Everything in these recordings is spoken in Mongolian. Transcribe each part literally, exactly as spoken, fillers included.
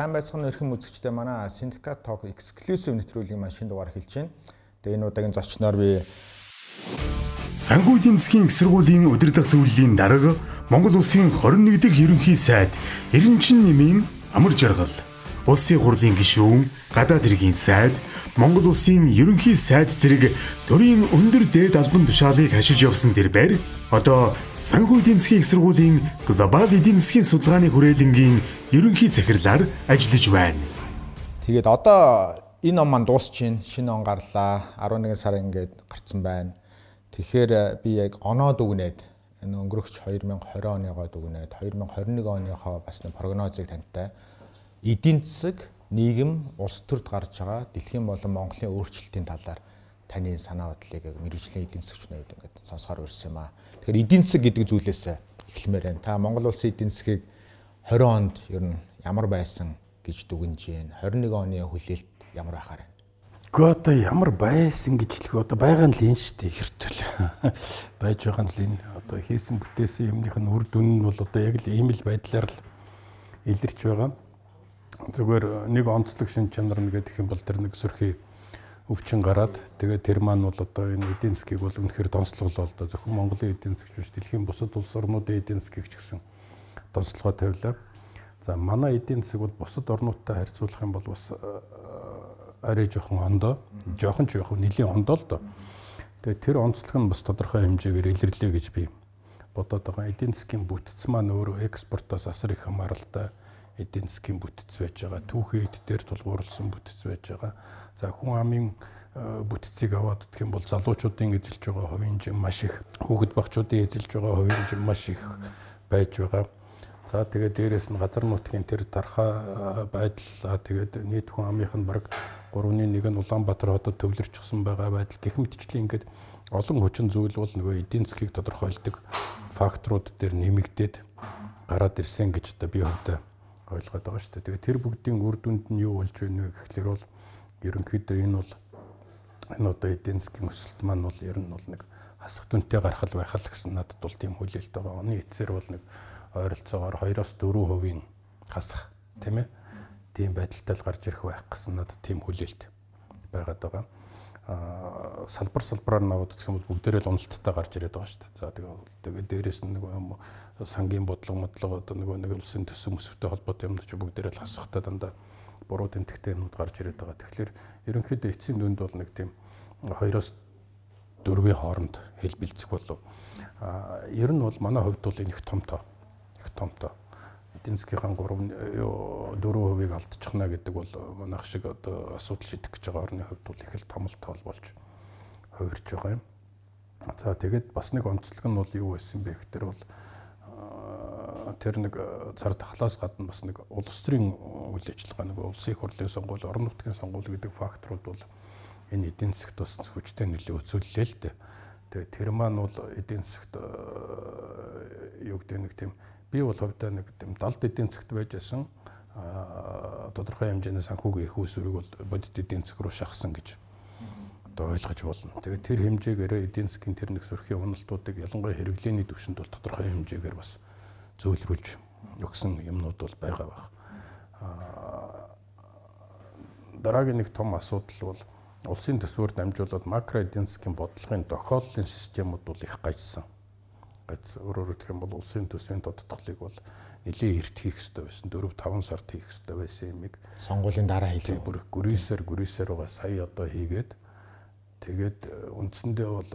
сайн байцгаана эрхэм үзэгчдээ манай Syndicate Talk Exclusive нэвтрүүлгийн маань шинэ дугаар эхэлж байна. Тэгээ энэ удаагийн зочноор би Санхүү эдийн засгийн их сургуулийн удирдах зөвлөлийн дарга Монгол Улсын хорин нэг дахь ерөнхий сайд Эренчин Нэмийн амар жаргал, Улсын хурлын гишүүн, гадаад хэргийн сайд, Монгол Улсын ерөнхий сайд зэрэг төрийн өндөр дээд албан тушаалыг хашиж явсан тэрээр одоо Санхүү эдийн засгийн их сургуулийн глобал эдийн засгийн судалгааны хүрээлэнгийн ерөнхий захирлаар ажиллаж байна. Тэгээд одоо энэ он маань дуусчихин, шинэ он гарлаа. арван нэгэн сар ингээд гарцсан байна. Тэгэхээр би яг оноод үгнээд энэ өнгөрөгч хоёр мянга хорин оныгоо дүгнээд хоёр мянга хорин нэг оныхоо бас нэг прогнозыг тантай эдийн засаг, нийгэм, улс төрд гарч байгаа дэлхийн болон Монголын өөрчлөлтийн талаар таны санаа бодлыг мэргэжлийн эдийн засгчнууд ингээд сонсохоор ирсэн юм аа. Тэгэхээр эдийн засаг гэдэг зүйлээс эхлэмээр байна. Та Монгол улсын эдийн засгийг хорин онд ер нь ямар байсан гэж дүгнэж байна? хорин нэг оны хүлээлт ямар байхаар байна? Гэхдээ одоо ямар байсан гэж хэлэх одоо байгаа нь л энэ шүү дээ хэртэл байж байгаа нь л энэ одоо хийсэн бүтээсэн юмных нь үр дүн нь бол одоо яг л ийм л байдлаар л илэрч байгаа. Зүгээр нэг онцлог шин чанар нь гэдэг юм бол тэр нэг сөрхий өвчин гараад тэгээд тэр маань бол одоо энэ эдийн засгийг бол үнэхээр донслоглоо л да зөвхөн Монголын эдийн засгч биш дэлхийн бусад улс орнуудын эдийн засгийг ч гэсэн донслогоо тавилаа. За манай эдийн засаг бол бусад орнуудтай харьцуулах юм бол бас арай жоохон ондоо, жоохон ч яг нэлийн ондоо л доо. Тэгээд тэр онцлог нь бас тодорхой хэмжээгээр илэрлээ гэж би бодоод байгаа. Эдийн засгийн бүтц маань өөрөө экспортоос асар их хамааралтай эдийн засгийн бүтц байж байгаа. Түүхий эд дээр тулгуурласан бүтц байж байгаа. За хүн амын бүтцийг аваад гэх юм бол залуучуудын эзэлж байгаа хувийн жим маш их, хүүхэд багчуудын эзэлж байгаа хувийн жим маш их байж байгаа. За тэгээд дээрэс нь газар нутгийн тэр тархаа байдал тэгээд нийт хүн амынх нь бараг гурван нэг нь Улаанбаатар хотод төвлөрчихсөн байгаа байдал гэх мэтчлэн ингээд олон хүчин зүйл бол нөгөө эдийн засгийг тодорхойлдог факторууд дээр нэмэгдээд гараад ирсэн гэж одоо би хувьдаа ойлгоод байгаа шүү дээ. Тэгээд тэр бүгдийн үр дүнд нь юу болж байна вэ гэхлээр бол ерөнхийдөө энэ бол энэ одоо эдийн засгийн өсөлт маань бол ер нь бол нэг хасах дүнтэй гарах л байх л гэсэн надад бол тийм хүлээлт байгаа. Оны эцсээр бол нэг ойролцоогоор хоёроос дөрвөн хувийн хасах тийм ээ. Тийм байдалтай л гарч ирэх байх гэсэн надад тийм хүлээлт байгаад байгаа. Аа салбар салбараар наваад үзэх юм бол бүгдээрээ л уналттай гарч ирээд байгаа шүү дээ. За тэгээд дээрээс нь нэг сангийн бодлого модлого одоо нөгөө нэг улсын төсөв өсвөтэй холбоотой юмнууд ч бүгдээрээ л хасахтай дандаа буруу тэмдэгтэй юмнууд гарч ирээд байгаа. Тэгэхээр ерөнхийдөө эцсийн дүнд бол нэг тийм хоёроос дөрвийн хооронд хэл бэлцэх болов. Аа ер нь бол манай хувьд бол энэ их том тоо. Их том тоо. Эдийн засгийн гурван дөрвөн хувийг алдчихна гэдэг бол манайх шиг одоо асуудал шийдэх гэж байгаа орны хувьд бол их л том л тоол болж хувирч байгаа юм. За тэгээд бас нэг онцлог нь бол юу байсан бэ гэхээр бол тэр нэг цар тахлаас гадна бас нэг улс төрийн үйл ажиллагаа нэг улсын хурлын сонгуул, орон нутгийн сонгуул гэдэг факторууд бол энэ эдийн засагт бас хүчтэй нөлөө үзүүллээ л дээ. Тэгээд тэр маань бол эдийн засагт юу гэдэг нэг тийм би бол хувьдаа нэг тийм далд эдийн засагт байж байсан тодорхой хэмжээний санхүүгийн их усүрийг бол бодит эдийн засаг руу шахсан гэж одоо ойлгож болно. Тэгээд тэр хэмжээгээр эдийн засгийн тэр нэг сөрхийн уналтуудыг ялангуяа хэрэглээний түвшинд бол тодорхой хэмжээгээр бас зөвлөрүүлж өгсөн юмнууд бол байгаа байх. Дараагийн нэг том асуудал бол улсын төсвөөр дамжуулаад макро эдийн засгийн бодлогын тохиоллын системүүд бол их гажсан. Өөрөөр хэлэх юм бол улсын төсвийн тодтголыг бол нэлээд эрт хийх хэрэгтэй байсан. дөрөв таван сард хийх хэрэгтэй байсан юмыг сонгуулийн дараа хийлээ. Бүр гүрээсээр гүрээсээр байгаа сая одоо хийгээд тэгээд үндсэндээ бол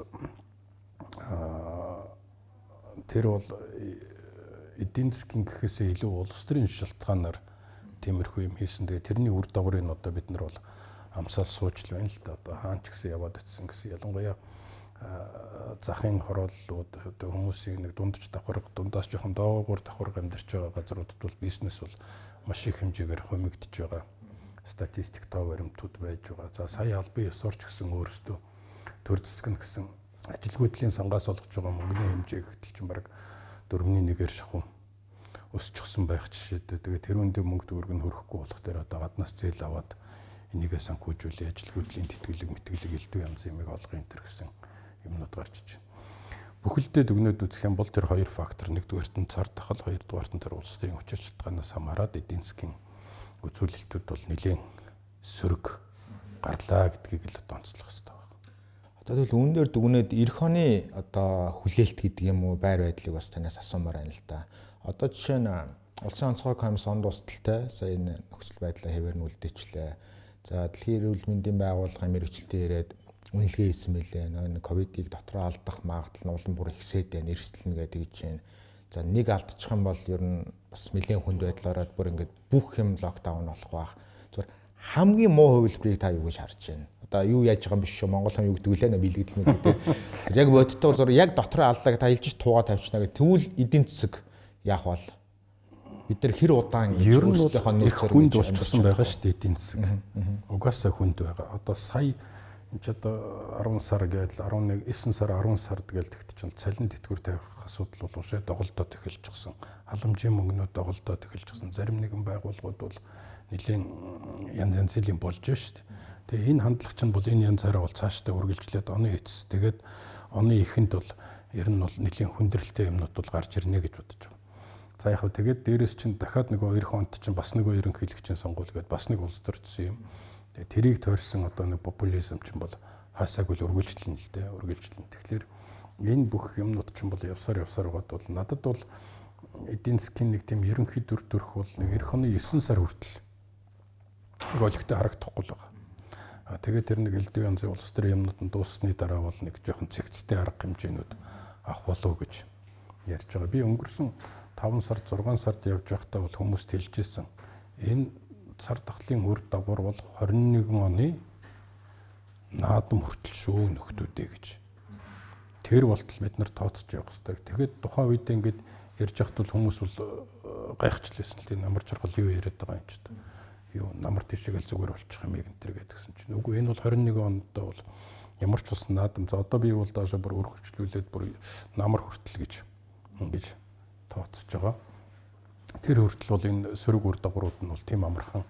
тэр бол эдийн засгийн гэхээсээ илүү улс төрийн шалтгаанаар тиймэрхүү юм хийсэн. Тэгээд тэрний үр дагаврыг одоо бид нар бол амсаал сууж л байна л да. Одоо хаан ч гэсэн яваад очсон гэсэн ялангуяа захын хорооллууд одоо хүмүүсийн нэг дундч давхар дундаас жоохон доогуур давхар амьдарч байгаа газруудад бол бизнес бол маш их хэмжээгээр хумигдж байгаа статистик тоо баримтууд байж байгаа. За сая албан ёсоор ч гэсэн өөрсдөө төр засаг нь гэсэн ажилгүйдлийн сангаас олгож байгаа мөнгөний хэмжээ гэтэл чинь бараг дөрвөн нэгээр шахуу өсчихсөн байх жишээтэй. Тэгээ тэр үндэ мөнгө төгрөг нь хөрөхгүй болох дээр одоо гаднаас зээл аваад энийгээ санхүүжүүлээ ажилгүйдлийн тэтгэлэг мэтгэлэг элдв янз юмыг олгох энэ төр гэсэн юмнууд гарч иж байна. Бүхэлдээ дүгнээд үзэх юм бол тэр хоёр фактор, нэгдүгээрт нь цар тахал, хоёрдугаарт нь тэр улс төрийн хүч шалтгаанаас хамаарат эдийн засгийн үзүүлэлтүүд бол нэлийн сөрөг гарлаа гэдгийг л одоо онцлох хэрэгтэй байна. Одоо тэгвэл үүн дээр дүгнээд эх оны одоо хүлээлт гэдэг юм уу байр байдлыг бас танаас асуумаар байна л да. Одоо жишээ нь Улсын онцгой комиссийн дуусталтай сая энэ нөхцөл байдлаа хэвээр нь үлдээчлээ. За дэлхийн эрүүл мэндийн байгууллагын мэрэгчлэлтэй ирээд үнэлгээ хийсэн мэлээ. Нөгөө ковидыг дотроо алдах магадлал нь улам бүр ихсээд байна, эрсдэлнэ гэдэг гэж байна. За нэг алдчих юм бол ер нь бас нэлээд хүнд байдлаараа бүр ингээд бүх юм локдаун болох байх. Зүгээр хамгийн муу хувилбарыг та юу гэж харж байна? Одоо юу яаж байгаа юм биш шүү. Монгол хүн юу гэдэг үлээ нэ бэлгэдэл мэт гэдэг. Яг бодтоор зур яг дотроо аллаг та хэлж туугаа тавьчихна гэх. Тэгвэл эдийн засаг яах вэ? Бид нар хэр удаан ер нь их хүнд болчихсон байгаа шүү дээ эдийн засаг. Угаасаа хүнд байгаа. Одоо сая энэ ч одоо арван сар гээл арван нэг девять сар арван сар гээл тэгт чинь цалин тэтгэвэр тавих асуудал бол уушаа доголдоод эхэлж гисэн. Халамжийн мөнгнүүд доголдоод эхэлж гисэн. Зарим нэгэн байгууллагууд бол нэлийн янз янзын болж шүү дээ. Тэгээ энэ хандлага чинь бол энэ янзаараа бол цаашдаа үргэлжлээд оны эцэс. Тэгээд оны эхэнд бол ер нь бол нэлийн хүндрэлтэй юмнууд бол гарч ирнэ гэж бодож байгаа. За яг хөө тэгээд дээрэс чинь дахиад нөгөө эх онд чинь бас нөгөө ерөнхийлөгчийн сонгуул гээд бас нэг улс төрсөн юм. Тэгээ тэрийг тойрсон одоо нэг популизм чинь бол хаасаагүй л үргэлжлэн л дээ үргэлжлэн. Тэгэхээр энэ бүх юмнууд чинь бол явсаар явсаар гоод бол надад бол эдийн засгийн нэг тийм ерөнхий дүр төрх бол нэг эх оны девять сар хүртэл нэг олигтой харагдахгүй л байгаа. А тэгээд тэр нэг элдв янзын улс төрийн юмнууд нь дууссаны дараа бол нэг жоохон цэгцтэй арга хэмжээнүүд авах болов гэж ярьж байгаа. Би өнгөрсөн таван сард зургаан сард явж байхдаа бол хүмүүст хэлжсэн. Энэ цар тахлын үр дагавар бол хорин нэгэн оны наадам хүртэл шүү нөхдүүдээ гэж. Тэр болтол бид нар тооцож явах хэрэгтэй. Тэгээд тухайн үед ингээд ярьж байхад бол хүмүүс бол гайхчихлээсэн л тийм намар жаргал юу яриад байгаа юм ч гэдэг. Юу намар тишээл зүгээр болчих юм яг энэ төр гэдгсэн чинь. Үгүй энэ бол хорин нэгэн онд бол ямар ч бас наадам. За одоо би бол даашаа бүр өргөжлүүлээд бүр намар хүртэл гэж ингэж тооцож байгаа. Тэр хүртэл бол энэ сөрөг үр дагаврууд нь бол тийм амархан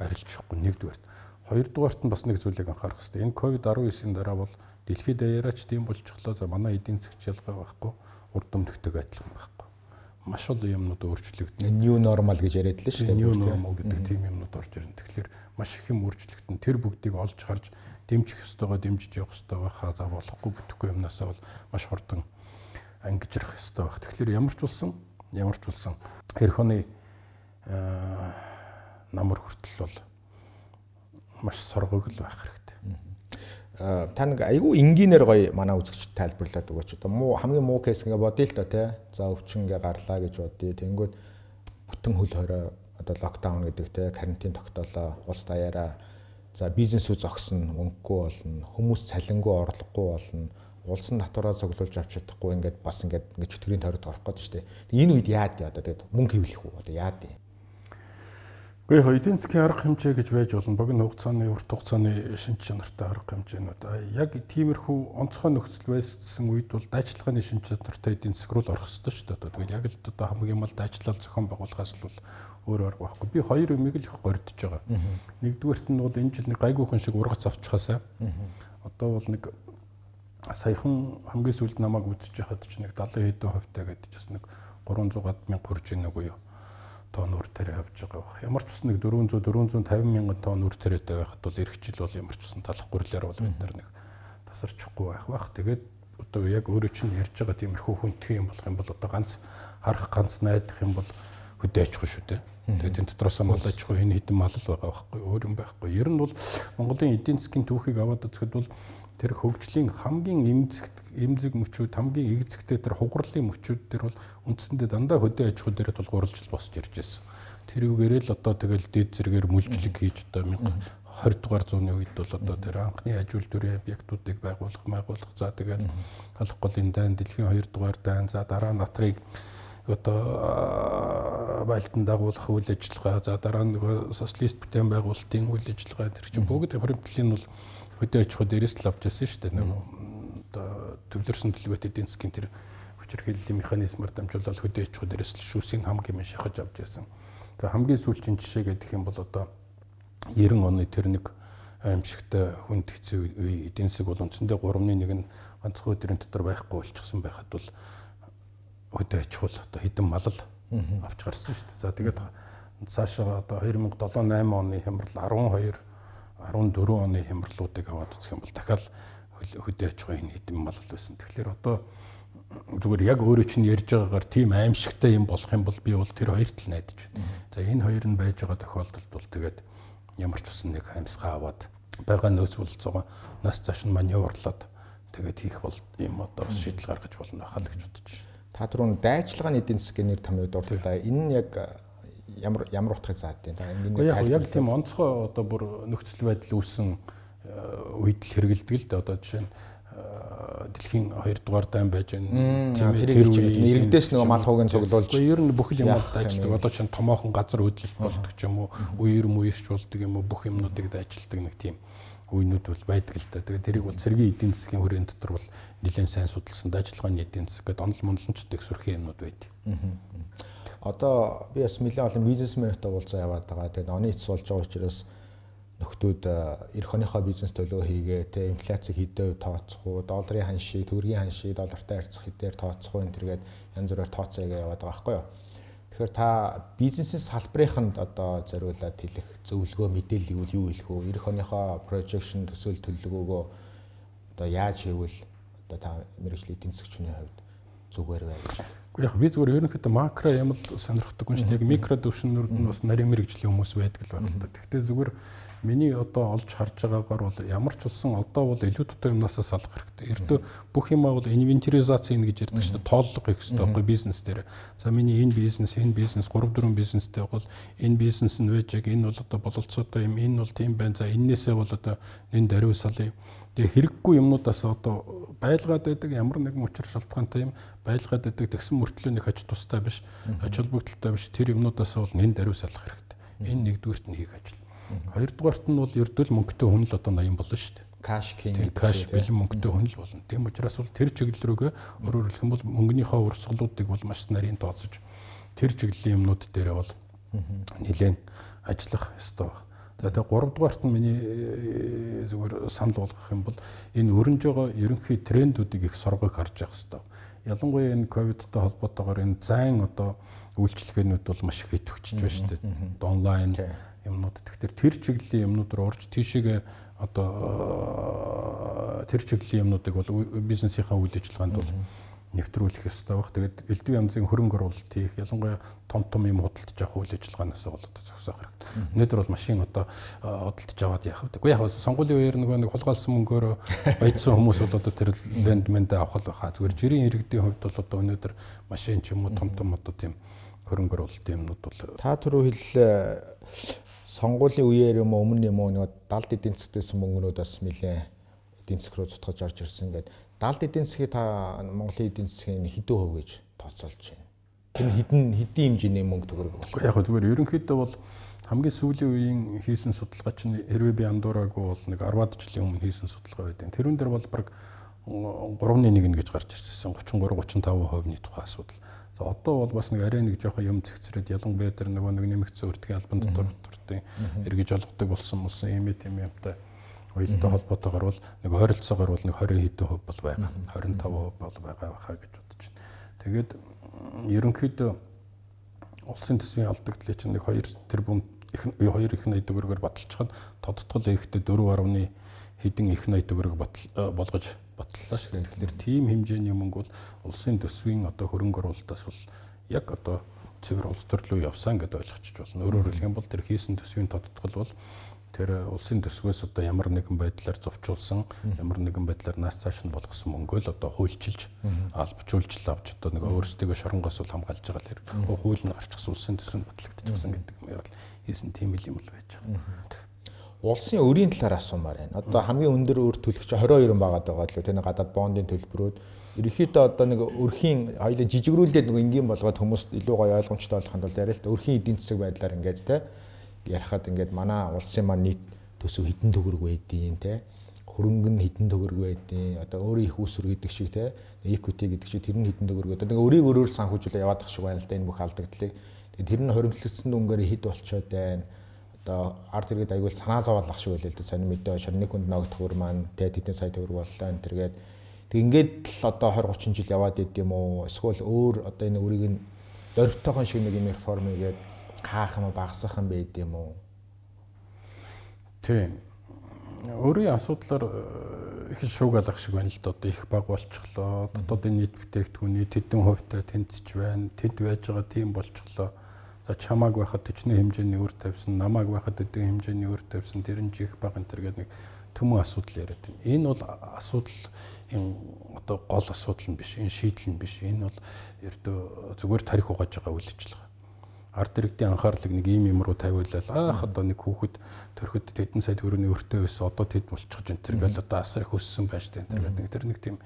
арилж явахгүй нэгдүгээрт. Хоёрдугаарт нь бас нэг зүйлийг анхаарах хэрэгтэй. Энэ ковид десятын дараа бол дэлхийд даяараач тийм болчихлоо. За манай эдийн засгийн ялгаа байхгүй, урд өмнөхтэйг адилхан байхгүй. Маш олон юмнууд өөрчлөгдөн. New normal гэж яриад л шүү дээ. New normal гэдэг тийм юмнууд орж ирнэ. Тэгэхээр маш их юм өөрчлөгдөн. Тэр бүгдийг олж харж дэмжих ёстойгоо дэмжиж явах ёстой байхаа за болохгүй бүтэхгүй юмнасаа бол маш хурдан ангижрах ёстой байх. Тэгэхээр ямар ч улсан ямар ч улсан эх оны намар хүртэл бол маш соргог л байх хэрэгтэй. Та нэг айгүй энгийнээр гоё манай үзэгчд тайлбарлаад өгөөч. Одоо муу хамгийн муу кейс ингээ бодъё л доо те. За өвчин ингээ гарлаа гэж бодъё. Тэнгүүд бүтэн хөл хорой одоо локдаун гэдэг те карантин тогтоолоо улс даяараа. За бизнесүүд зогсно, өнгөгүй болно, хүмүүс цалингүй орлогогүй болно. Улсын татвараа цуглуулж авч чадахгүй ингээд бас ингээд ингээд чөтгөрийн тойрогт орох гээд шүү дээ. Энэ үед яад яа одоо тэгээд мөнгө хэвлэх үү одоо яад юм. Гэхдээ яг эдийн засгийн арга хэмжээ гэж байж болно. Богино хугацааны, урт хугацааны шинж чанартай арга хэмжээнүүд. Яг тиймэрхүү онцгой нөхцөл байсан үед бол дайчилгааны шинж чанартай эдийн засаг руу орох хэрэгтэй шүү дээ. Тэгээд яг л одоо хамгийн мал дайчлал зохион байгуулахаас л өөр арга байхгүй. Би хоёр юмыг л их гордож байгаа. Нэгдүгээрт нь бол энэ жил нэг гайгүйхэн шиг ургац авчихаасаа. Одоо бол нэг саяхан хамгийн сүүлд намайг үзэж байхад ч нэг далайн хэдэн хувьтай гэдэг чинь нэг гурван зуун мянга хүрж ийн үгүй юу. Тонн үр тариа авч байгаа байх. Ямар ч бас нэг дөрвөн зуун дөрвөн цаавин мянган тонн үр тариатай байхад бол эх жил бол ямар ч бас талах гүрлээр бол бид нар нэг тасарчихгүй байх байх. Тэгээд одоо яг өөрөө чинь ярьж байгаа тиймэрхүү хүндхэн юм болох юм бол одоо ганц харах ганц найдах юм бол хөдөө аж ахуй шүү дээ. Тэгээд энэ дотроос мал аж ахуй энэ хэдэн мал л байгаа байхгүй өөр юм байхгүй. Ер нь бол Монголын эдийн засгийн түүхийг аваад үзэхэд бол тэр хөгжлийн хамгийн эмзэг эмзэг мөчүүд хамгийн эгзэгтэй тэр хугарлын мөчүүд тэр бол үндсэндээ дандаа хөдөө аж ахуй дээрээ тулгуурлаж босч ирж байсан. Тэрүүгээр л одоо тэгэл дээд зэрэгээр мүлжлэг хийж одоо двадцать дугаар зууны үед бол одоо тэр анхны аж үйлдвэрийн объектуудыг байгуулах, байгуулах. За тэгэл халах голын дайн, дэлхийн хоёр дугаар дайн, за дараа нь натрыг одоо байлдан дагуулах үйл ажиллагаа, за дараа нь социалист бүтээн байгуулалтын үйл ажиллагаа тэр чинь бүгд хоригдлын бол хөдөө аж ахуй дээрээс л авч яасан шүү дээ. Нэг одоо төвлөрсөн төлөвөт эдийн засгийн тэр хүчирхийллийн механизмаар дамжуулаад хөдөө аж ахуй дээрээс л шүүсийн хамгийн мэн шахаж авч яасан. За хамгийн сүүлчийн жишээ гэдэг юм бол одоо девяносто оны тэр нэг аимшигтай хүнд хэцүү үе эдийн засаг бол үндсэндээ гуравны нэг нь ганцхан өдрийн дотор байхгүй болчихсон байхад бол хөдөө аж ахуй одоо хэдэн малл авч гарсан шүү дээ. За тэгээд цаашаа одоо two thousand seven eight оны хямрал twelve four оны хямралуудыг аваад үзэх юм бол дахиад хөдөө аж ахуйн хэдэн малгал байсан. Тэгэхээр одоо зүгээр яг өөрөө чинь ярьж байгаагаар тийм аимшигтай юм болох юм бол би бол тэр хоёр тал найдаж байна. За энэ хоёр нь байж байгаа тохиолдолд бол тэгээд ямар ч усан нэг хаимсгаа аваад байгаа нөөц болцоогоо нас цааш нь маневрлаад тэгээд хийх бол юм одоо шийдэл гаргаж болно байхаа л гэж бодож байна. Та түрүүн дайчилгааны эдийн засгийн нэр томьёо дурдлаа. Энэ нь яг ямар ямар утгыг заадаг юм. Та ингэ яг тийм онцгой одоо бүр нөхцөл байдал үүссэн үед л хэрэгэлдэг л дээ. Одоо жишээ нь дэлхийн хоёр дугаар дайн байж байна. Тийм тэр үеийн иргэдээс нөгөө мал хуугийн цуглуулж. Ер нь бүх юм ажилладаг. Одоо чинь томоохон газар хөдлөлт болдог ч юм уу, үер муйрчулдаг юм уу, бүх юмнуудыг дайчилдаг нэг тийм үеинүүд бол байдаг л да. Тэгээд тэрийг бол цэргийн эдийн засгийн хүрээнд дотор бол нэлээд сайн судалсан дайчилгааны эдийн засаг гэдэг онол монлончтой их сүрхэн юмнууд байдаг. Одоо би бас нэлээд олон бизнесментэй уулзаа яваад байгаа. Тэгээд оны эцс болж байгаа учраас нөхдүүд эх оныхоо бизнес төлөө хийгээ, тэ инфляцийг хэдээр тооцох уу, долларын ханшийг, төгрөгийн ханшийг доллартай харьцах хэдээр тооцох уу энэ төргээд янз бүрээр тооцоогоо яваад байгаа байхгүй юу. Тэгэхээр та бизнесийн салбарынханд одоо зориулаад хэлэх зөвлөгөө мэдээллийг бол юу хэлэх вэ? Эх оныхоо projection төсөөл төлөвлөгөөгөө одоо яаж хийвэл одоо та мэргэжлийн эдийн засгчны хувьд зүгээр байх гэж. Гэхдээ яг би зүгээр ерөнхийдөө макро юм л сонирхдаг юм шүү дээ. Яг микро төвшнүүд нь бас нарийн мэргэжлийн хүмүүс байдаг л байна л да. Гэхдээ зүгээр миний одоо олж харж байгаагаар бол ямар ч улсан одоо бол илүү дутуу юмнаас салах хэрэгтэй. Ердөө бүх юмаа бол инвентаризац хийн гэж ярьдаг шүү дээ. Тооллого хийх хэрэгтэй байхгүй бизнес дээр. За миний энэ бизнес, энэ бизнес three four бизнестэй бол энэ бизнес нь вэж яг энэ бол одоо бололцоотой юм. Энэ бол тийм байна. За эннээсээ бол одоо энэ даруй салъя. Тэгээ хэрэггүй юмнуудаас одоо байлгаад байдаг ямар нэгэн учир шалтгаантай юм байлгаад байдаг тэгсэн мөртлөө нэг аж тустай биш, ач холбогдолтой биш тэр юмнуудаас бол нэн даруй салах хэрэгтэй. Энэ нэгдүгээрт нь хийх ажил. Хоёрдугаарт нь бол ердөө л мөнгөтэй хүн л одоо ноён болно шүү дээ. Каш king. Каш бэлэн мөнгөтэй хүн л болно. Тийм учраас бол тэр чиглэл рүүгээ өөрөөр хэлэх юм бол мөнгөнийхөө урсгалуудыг бол маш нарийн тооцож тэр чиглэлийн юмнууд дээрээ бол нэлээд ажиллах ёстой байна. Тэгээд гуравдугаарт нь миний зүгээр санал болгох юм бол энэ өрнөж байгаа ерөнхий трендүүдийг их соргог харж явах хэрэгтэй. Ялангуяа энэ ковидтай холбоотойгоор энэ зайн одоо үйлчлэгээнүүд бол маш их идэвхжиж байна шүү дээ. Онлайн юмнууд. Тэгэхээр тэр чиглэлийн юмнууд руу орж тийшээгээ одоо тэр чиглэлийн юмнуудыг бол бизнесийнхаа үйл ажиллагаанд бол нэвтрүүлэх ёстой баг. Тэгээд элдв янзын хөрөнгө оруулалт хийх, ялангуяа том том юм худалдаж авах үйл ажиллагаанаас бол одоо зогсоох хэрэгтэй. Өнөөдөр бол машин одоо худалдаж аваад яах вэ? Гэхдээ яг сонгуулийн үеэр нөгөө нэг хулгайлсан мөнгөөр баяжсан хүмүүс бол одоо тэр лендмэндээ авах л байхаа. Зүгээр жирийн иргэдийн хувьд бол одоо өнөөдөр машин ч юм уу том том одоо тийм хөрөнгө оруулалтын юмнууд бол та түрүү хэллээ сонгуулийн үеэр юм өмнө юм уу нэг далд эдийн засгтайсэн мөнгнүүд бас нэлээ эдийн засаг руу цутгаж орж ирсэн гэдэг. Далд эдийн засгийг та Монголын эдийн засгийн хэдэн хувь гэж тооцоолж байна? Тэр хэдэн хэдийн хэмжээний мөнгө төгрөг болох. Яг зүгээр ерөнхийдөө бол хамгийн сүүлийн үеийн хийсэн судалгаа чинь хэрвээ би андуураагүй бол нэг арваад жилийн өмнө хийсэн судалгаа байдаг. Тэрүүн дээр бол баг three нэг гэж гарч ирсэн. thirty-three thirty-five хувийн тухай асуудал. За одоо бол бас нэг арай нэг жоохон юм зэгцрээд ялангуяа тэр нөгөө нэг нэмэгдсэн өртгийн албан дотор төртийн эргэж олгодог болсон болсон юм юм юмтай уялдаа холбоотойгоор бол нэг ойролцоогоор бол нэг twenty хэдэн хувь бол байгаа. twenty-five хувь бол байгаа байхаа гэж бодож байна. Тэгээд ерөнхийдөө улсын төсвийн алдагдлыг чинь нэг two тэрбум two их найд төгрөгөөр баталчихад тодтгол ихтэй four хэдэн их найд төгрөг болгож батллаа шүү дээ. Тэгэхээр тийм хэмжээний мөнгө бол улсын төсвийн одоо хөрөнгө оруулалтаас бол яг одоо цэвэр улс төрлөө явсан гэдээ ойлгочих болно. Өөрөөр хэлэх юм бол тэр хийсэн төсвийн тодтгол бол тэр улсын төсвөөс одоо ямар нэгэн байдлаар зовчулсан, ямар нэгэн байдлаар нас цааш нь болгосон мөнгөө л одоо хуульчилж, албажуулж авч одоо нэг өөрсдөө шоронгоос бол хамгаалж байгаа л хэрэг. Хууль нь гарчихсан улсын төсвөнд батлагдчихсан гэдэг юм ярил хийсэн тийм л юм л байж байгаа. Улсын өрийн талаар асуумаар байна. Одоо хамгийн өндөр өр төлөгч twenty-two байгаад байгаа л тэр гадаад бондын төлбөрүүд ерөнхийдөө одоо нэг өрхийн хоёлын жижигрүүлдээд нэг энгийн болгоод хүмүүст илүү гоё ойлгомжтой болгохын тулд яриа л та өрхийн эдийн засаг байдлаар ингээд те ярихад ингээд манай улсын маань нийт төсөв хэдэн төгрөг байдیں те хөрөнгө нь хэдэн төгрөг байдیں одоо өөрийн их усүр гэдэг шиг те equity гэдэг шиг тэр нь хэдэн төгрөг одоо нэг өрийг өрөөр санхүүжүүлээ яваад ах шиг байна л да энэ бүх алдагдлыг. Тэгээд тэр нь хоримтлагдсан дүнгээр хэд болчоод байна. Одоо ард иргэд аягүй санаа зовоолох шиг байлээ л дээ сонир мэдээ шорны хүнд ногдох бүр маань тэ тэдэн сая төгрөг боллоо энэ тэргээд тэг ингээд л одоо twenty thirty жил яваад идэм үү эсвэл өөр одоо энэ үрийг нь дөрвтойхон шиг нэг юм реформ хийгээд каах юм уу багасах юм байд юм уу? Тийм. Өөрийн асуудлаар их л шуугаалах шиг байна л да. Одоо их баг болчихлоо. Дотоодын нийт бүтээгдэхүүний тэдэн хувьтай тэнцэж байна. Тэд байж байгаа тийм болчихлоо. За чамааг байхад төчнөө хэмжээний үр тавьсан, намааг байхад өдөө хэмжээний үр тавьсан, тэр нь чих баг энэ төр гэдэг нэг төмөн асуудал яриад байна. Энэ бол асуудал энэ одоо гол асуудал нь биш, энэ шийдэл нь биш. Энэ бол ердөө зүгээр тарих угааж байгаа үйл ажиллагаа. Ард иргэдийн анхаарлыг нэг ийм юм руу тавиулаад аах одоо нэг хүүхэд төрөхөд тэдэн сая төгрөгийн өртөө байсан одоо тэд болчихж энэ төр гэл одоо асар их өссөн байж тань тэр гэдэг тэр нэг тийм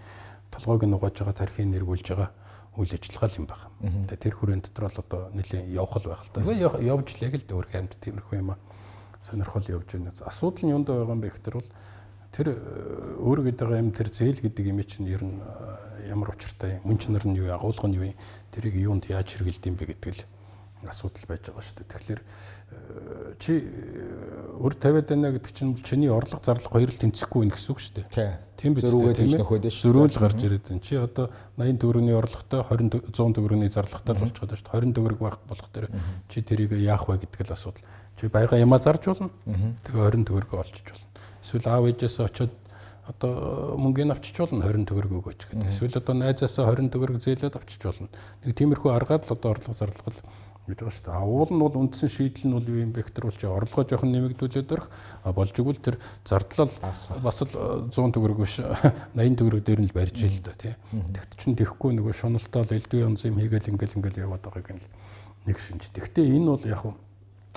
толгойг нь угааж байгаа тарихыг нэргүүлж байгаа үйл ажиллагаа юм байна. Тэгээ тэр хүрээнд дотор л одоо нэлийн явах л байх л та. Явж л яг л өөр хэмд тиймэрхүү юм аа сонирхол явж байна. Асуудал нь юунд байгаа юм бэ гэхээр бол тэр өөр гэдэг юм тэр зээл гэдэг юм чинь ер нь ямар учиртай юм. Мөн чанар нь юу, агуулга нь юу, тэрийг юунд яаж хэрэгэлдэм бэ гэдэг л асуудал байж байгаа шүү дээ. Тэгэхээр чи өр тавиад байна гэдэг чинь чиний орлого зарлага хоёр л тэнцэхгүй байх гэсэн үг шүү дээ. Тийм биз дээ. Тийм ээ. Зөрүүл гарч ирээд байна. Чи одоо найман төгрөгийн орлоготой двадцать цent төгрөгийн зарлагтай болчиход байна шүү дээ. двадцать төгрөг байх болох дээр чи тэрийг яах вэ гэдэг л асуудал. Чи баяга ямаа зарж болно. Тэгээ двадцать төгрөгөө олчиж болно. Эсвэл аав ээжээс очиод одоо мөнгөний авчиж болно двадцать төгрөг өгөөч гэдэг. Эсвэл одоо найзаасаа двадцать төгрөг зээлээд авчиж болно. Нэг тиймэрхүү аргаар л одоо орлого зарлага л гэж байгаа шүү дээ. Уул нь бол үндсэн шийдэл нь бол юу юм бэ гэхээр бол чи орлогоо жоохон нэмэгдүүлээд өрөх болж игэл тэр зардлал бас л цent төгрөг биш eighty төгрөг дээр нь л барьж ил да тий. Тэгт чинь тэхгүй нөгөө шуналтаа л элдв янз юм хийгээл ингээл ингээл яваад байгааг нь нэг шинж. Тэгтээ энэ бол яг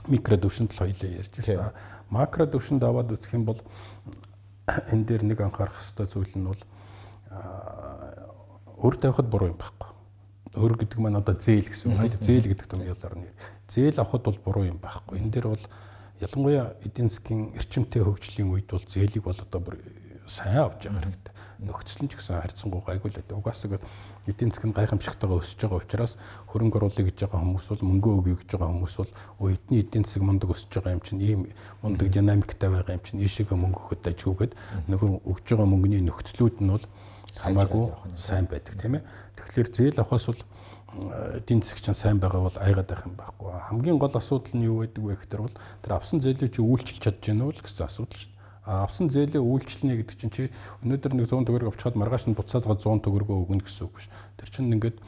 микро төвшөнд л хоёлаа ярьж байна. Макро төвшөнд аваад үзэх юм бол энэ дээр нэг анхаарах хэрэгтэй зүйл нь бол өр тавихад буруу юм байхгүй. Өр гэдэг маань одоо зээл гэсэн үг. Зээл гэдэг томьёолоор нэр. Зээл авахд бол буруу юм байхгүй. Энэ дээр бол ялангуяа эдийн засгийн эрчимтэй хөгжлийн үед бол зээлийг бол одоо бүр сайн авч явах хэрэгтэй. Нөхцөл нь ч гэсэн харьцангуй гайгүй л байдаг. Угаасаа эдийн засгийн гайхамшигтайгаа өсөж байгаа учраас хөрөнгө оруулалт гэж байгаа хүмүүс бол мөнгө өгье гэж байгаа хүмүүс бол үеийн эдийн засаг мундаг өсөж байгаа юм чинь ийм мундаг динамиктай байгаа юм чинь ийшээгээ мөнгө өгөхөд ажигүйгээд нөгөө өгж байгаа мөнгөний нөхцлүүд нь бол хамаагүй сайн байдаг тийм ээ. Тэгэхээр зээл авахаас бол эдийн засаг чинь сайн байгаа бол айгаад байх юм байхгүй. Хамгийн гол асуудал нь юу байдаг вэ гэхээр бол тэр авсан зээлийг чи үйлчилж чадж гэнэ үү гэсэн асуудал шүү дээ. Авсан зээлээ үйлчлэнэ гэдэг чинь чи өнөөдөр нэг цent төгрөг авчихад маргааш нь буцаад цент төгрөгөө өгнө гэсэн үг биш. Тэр чинь ингээд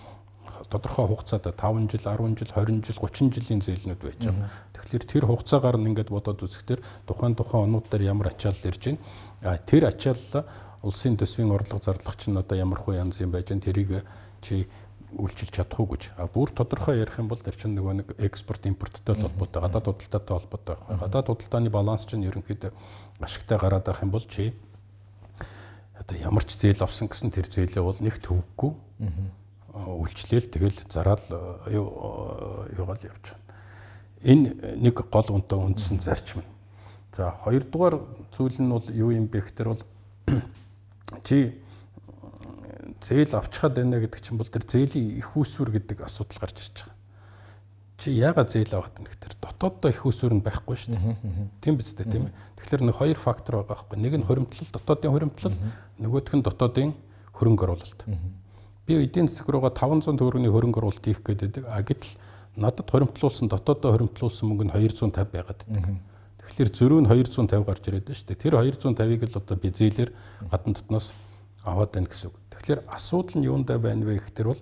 тодорхой хугацаанд five жил, ten жил, twenty жил, thirty жилийн зээлнүүд байж байгаа. Тэгэхээр тэр хугацаагаар нь ингээд бодоод үзэхдээ тухайн тухайн онууд дээр ямар ачаалал ирж байна. А тэр ачаалал улсын төсвийн орлого зарлах чинь одоо ямар хөө янз юм байж байна. Тэрийг чи үйлчилж чадах уу гэж. А бүр тодорхой ярих юм бол тэр чинь нөгөө нэг экспорт импорттой холбоотой, гадаад худалдаатай холбоотой байх. Гадаад худалдааны баланс чинь ерөнхийдөө ашигтай гараад байх юм бол чи одоо ямар ч зээл авсан гэсэн тэр зээлээ бол нэг төвөггүй үйлчлээл тэгэл зараад юугаал явж байна. Энэ нэг гол үнэтэй үндсэн зарчим. За хоёрдугаар зүйл нь бол юу юм бэ гэхээр бол чи зээл авчихад байна гэдэг чинь бол тэр зээлийн их үүсвэр гэдэг асуудал гарч ирж байгаа. Чи яагаад зээл аваад байна гэхээр дотооддоо их үүсвэр нь байхгүй шүү дээ. Тийм биз дээ тийм ээ. Тэгэхээр нэг хоёр фактор байгаа байхгүй. Нэг нь хуримтлал, дотоодын хуримтлал, нөгөөх нь дотоодын хөрөнгө оруулалт. Би эдийн засаг руугаа five hundred төгрөгийн хөрөнгө оруулалт хийх гэдэг. А гэтэл надад хуримтлуулсан дотооддоо хуримтлуулсан мөнгө нь two hundred fifty байгаад байдаг. Тэгэхээр зөрүү нь two hundred fifty гарч ирээд байна шүү дээ. Тэр two hundred fifty-ыг л одоо би зээлэр гадна дотноос аваад байна гэсэн үг. Тэгэхээр асуудал нь юундаа байна вэ гэхээр бол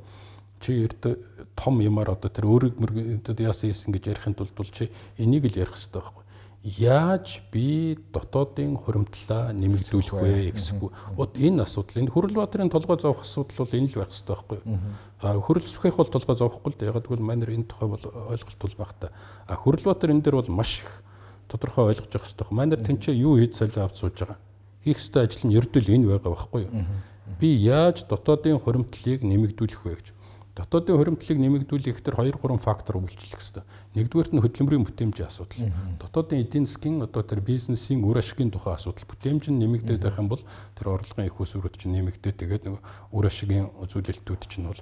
чи ердөө том юмар одоо тэр өөрөг мөрөд яасан ийсэн гэж ярихын тулд бол чи энийг л ярих хэрэгтэй байхгүй. Яаж би дотоодын хуримтлалаа нэмэгдүүлэх вэ гэсэхгүй. Вот энэ асуудал энэ Хүрэл Баатарын толгой зовох асуудал бол энэ л байх хэрэгтэй байхгүй. А Хүрэл Сүхэх бол толгой зовохгүй л дээ. Яг гэвэл манайр энэ тухай бол ойлголттой байх та. А Хүрэл Баатар энэ дээр бол маш их тодорхой ойлгож явах хэрэгтэй. Манайр тэнцээ юу хийж солио авч сууж байгаа. Хийх ёстой ажил нь ердөө л энэ байгаа байхгүй юу? Би яаж дотоодын хуримтлалыг нэмэгдүүлэх вэ гэж. Дотоодын хуримтлалыг нэмэгдүүлэх гэхээр two three фактор үйлчлэх хэрэгтэй. Нэгдүгээрт нь хөдөлмөрийн бүтээмжийн асуудал. Дотоодын эдийн засгийн одоо тэр бизнесийн үр ашигын тухай асуудал. Бүтээмж нь нэмэгдээд байх юм бол тэр орлогын их усрууд чинь нэмэгдээд тэгээд нэг үр ашигын үзүүлэлтүүд чинь бол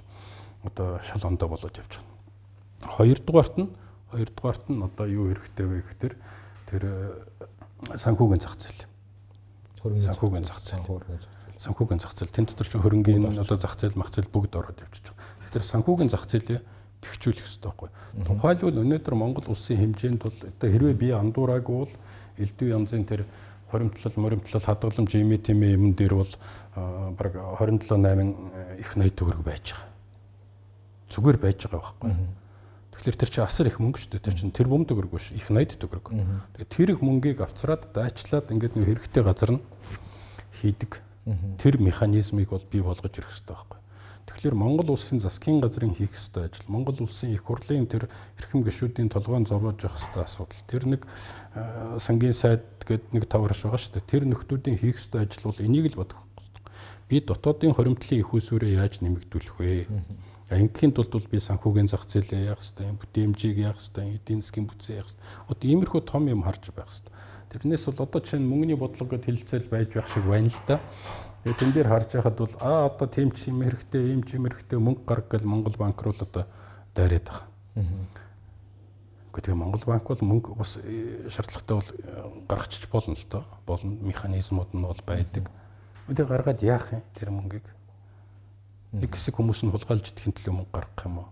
одоо шал ондоо болоод явж байгаа. Хоёрдугаарт нь хоёрдугаарт нь одоо юу хэрэгтэй вэ гэхээр тэр санхүүгийн зах зээл. Санхүүгийн зах зээл. Санхүүгийн зах зээл. Тэн дотор чинь хөрөнгөний одоо зах зээл, мах зээл бүгд ороод явчихж байгаа. Тэгэхээр санхүүгийн зах зээлээ тэгчүүлэх хэрэгтэй байхгүй. Тухайлбал өнөөдөр Монгол улсын хэмжээнд бол одоо хэрвээ би андуураагүй бол элдв янзын тэр хоримтлал, моримтлал, хадгаламж юм тийм юм дээр бол баг двадцать семь восемь их ноёд төгрөг байж байгаа. Зүгээр байж байгаа байхгүй. Тэгэхээр тэр чинь асар их мөнгө шүү дээ. Тэр чинь тэр бум төгрөг биш, их ноёд төгрөг. Тэгээд тэр их мөнгийг авцраад дайчлаад ингээд нэг хэрэгтэй газар нь хийдэг. Тэр механизмыг бол бий болгож ирэх хэрэгтэй байхгүй. Тэгэхээр Монгол улсын засгийн газрын хийх ёстой ажил, Монгол улсын их хурлын тэр эрхэм гишүүдийн толгойн зовоож явах ёстой асуудал. Тэр нэг сангийн сайд гэдэг нэг таварш байгаа шүү дээ. Тэр нөхдүүдийн хийх ёстой ажил бол энийг л бодох хэрэгтэй. Би дотоодын хоримтлын их усүрээ яаж нэмэгдүүлэх вэ? Ингийн тулд бол би санхүүгийн зах зээлээ яах ёстой, бүтээмжийг яах ёстой, эдийн засгийн бүтцээ яах ёстой. Одоо иймэрхүү том юм харж байх ёстой. Тэрнээс бол одоо чинь мөнгөний бодлого гэж хэлэлцэл байж байх шиг байна л да. Тэгээ тэн дээр харж байхад бол аа одоо тийм ч юм хэрэгтэй, ийм ч юм хэрэгтэй мөнгө гарга гэл Монгол банк руу л одоо дайраад байгаа. Гэхдээ Монгол банк бол мөнгө бас шаардлагатай бол гаргачих болно л доо. Болно, механизмууд нь бол байдаг. Үгүй гаргаад яах юм тэр мөнгийг? Нэг хэсэг хүмүүс нь хулгайлж идэхин төлөө мөнгө гаргах юм уу?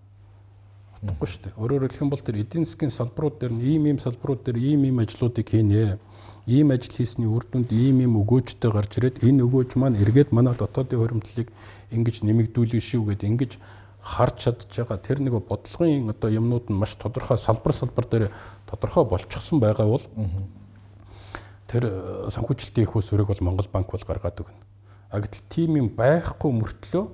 Утгагүй шүү дээ. Өөрөөр хэлэх юм бол тэр эдийн засгийн салбарууд дээр ийм ийм салбарууд дээр ийм ийм ажлуудыг хийнэ. Ийм ажил хийсний үр дүнд ийм ийм өгөөжтэй гарч ирээд энэ өгөөж маань эргээд манай дотоодын хуримтлалыг ингэж нэмэгдүүлэх шүү гэдээ ингэж харж чадж байгаа. Тэр нэг бодлогын одоо юмнууд нь маш тодорхой салбар салбар дээр тодорхой болчихсон байгаа бол тэр санхүүжилтийн их усүрийг бол Монгол банк бол гаргаад өгнө. А гэтэл тийм юм байхгүй мөртлөө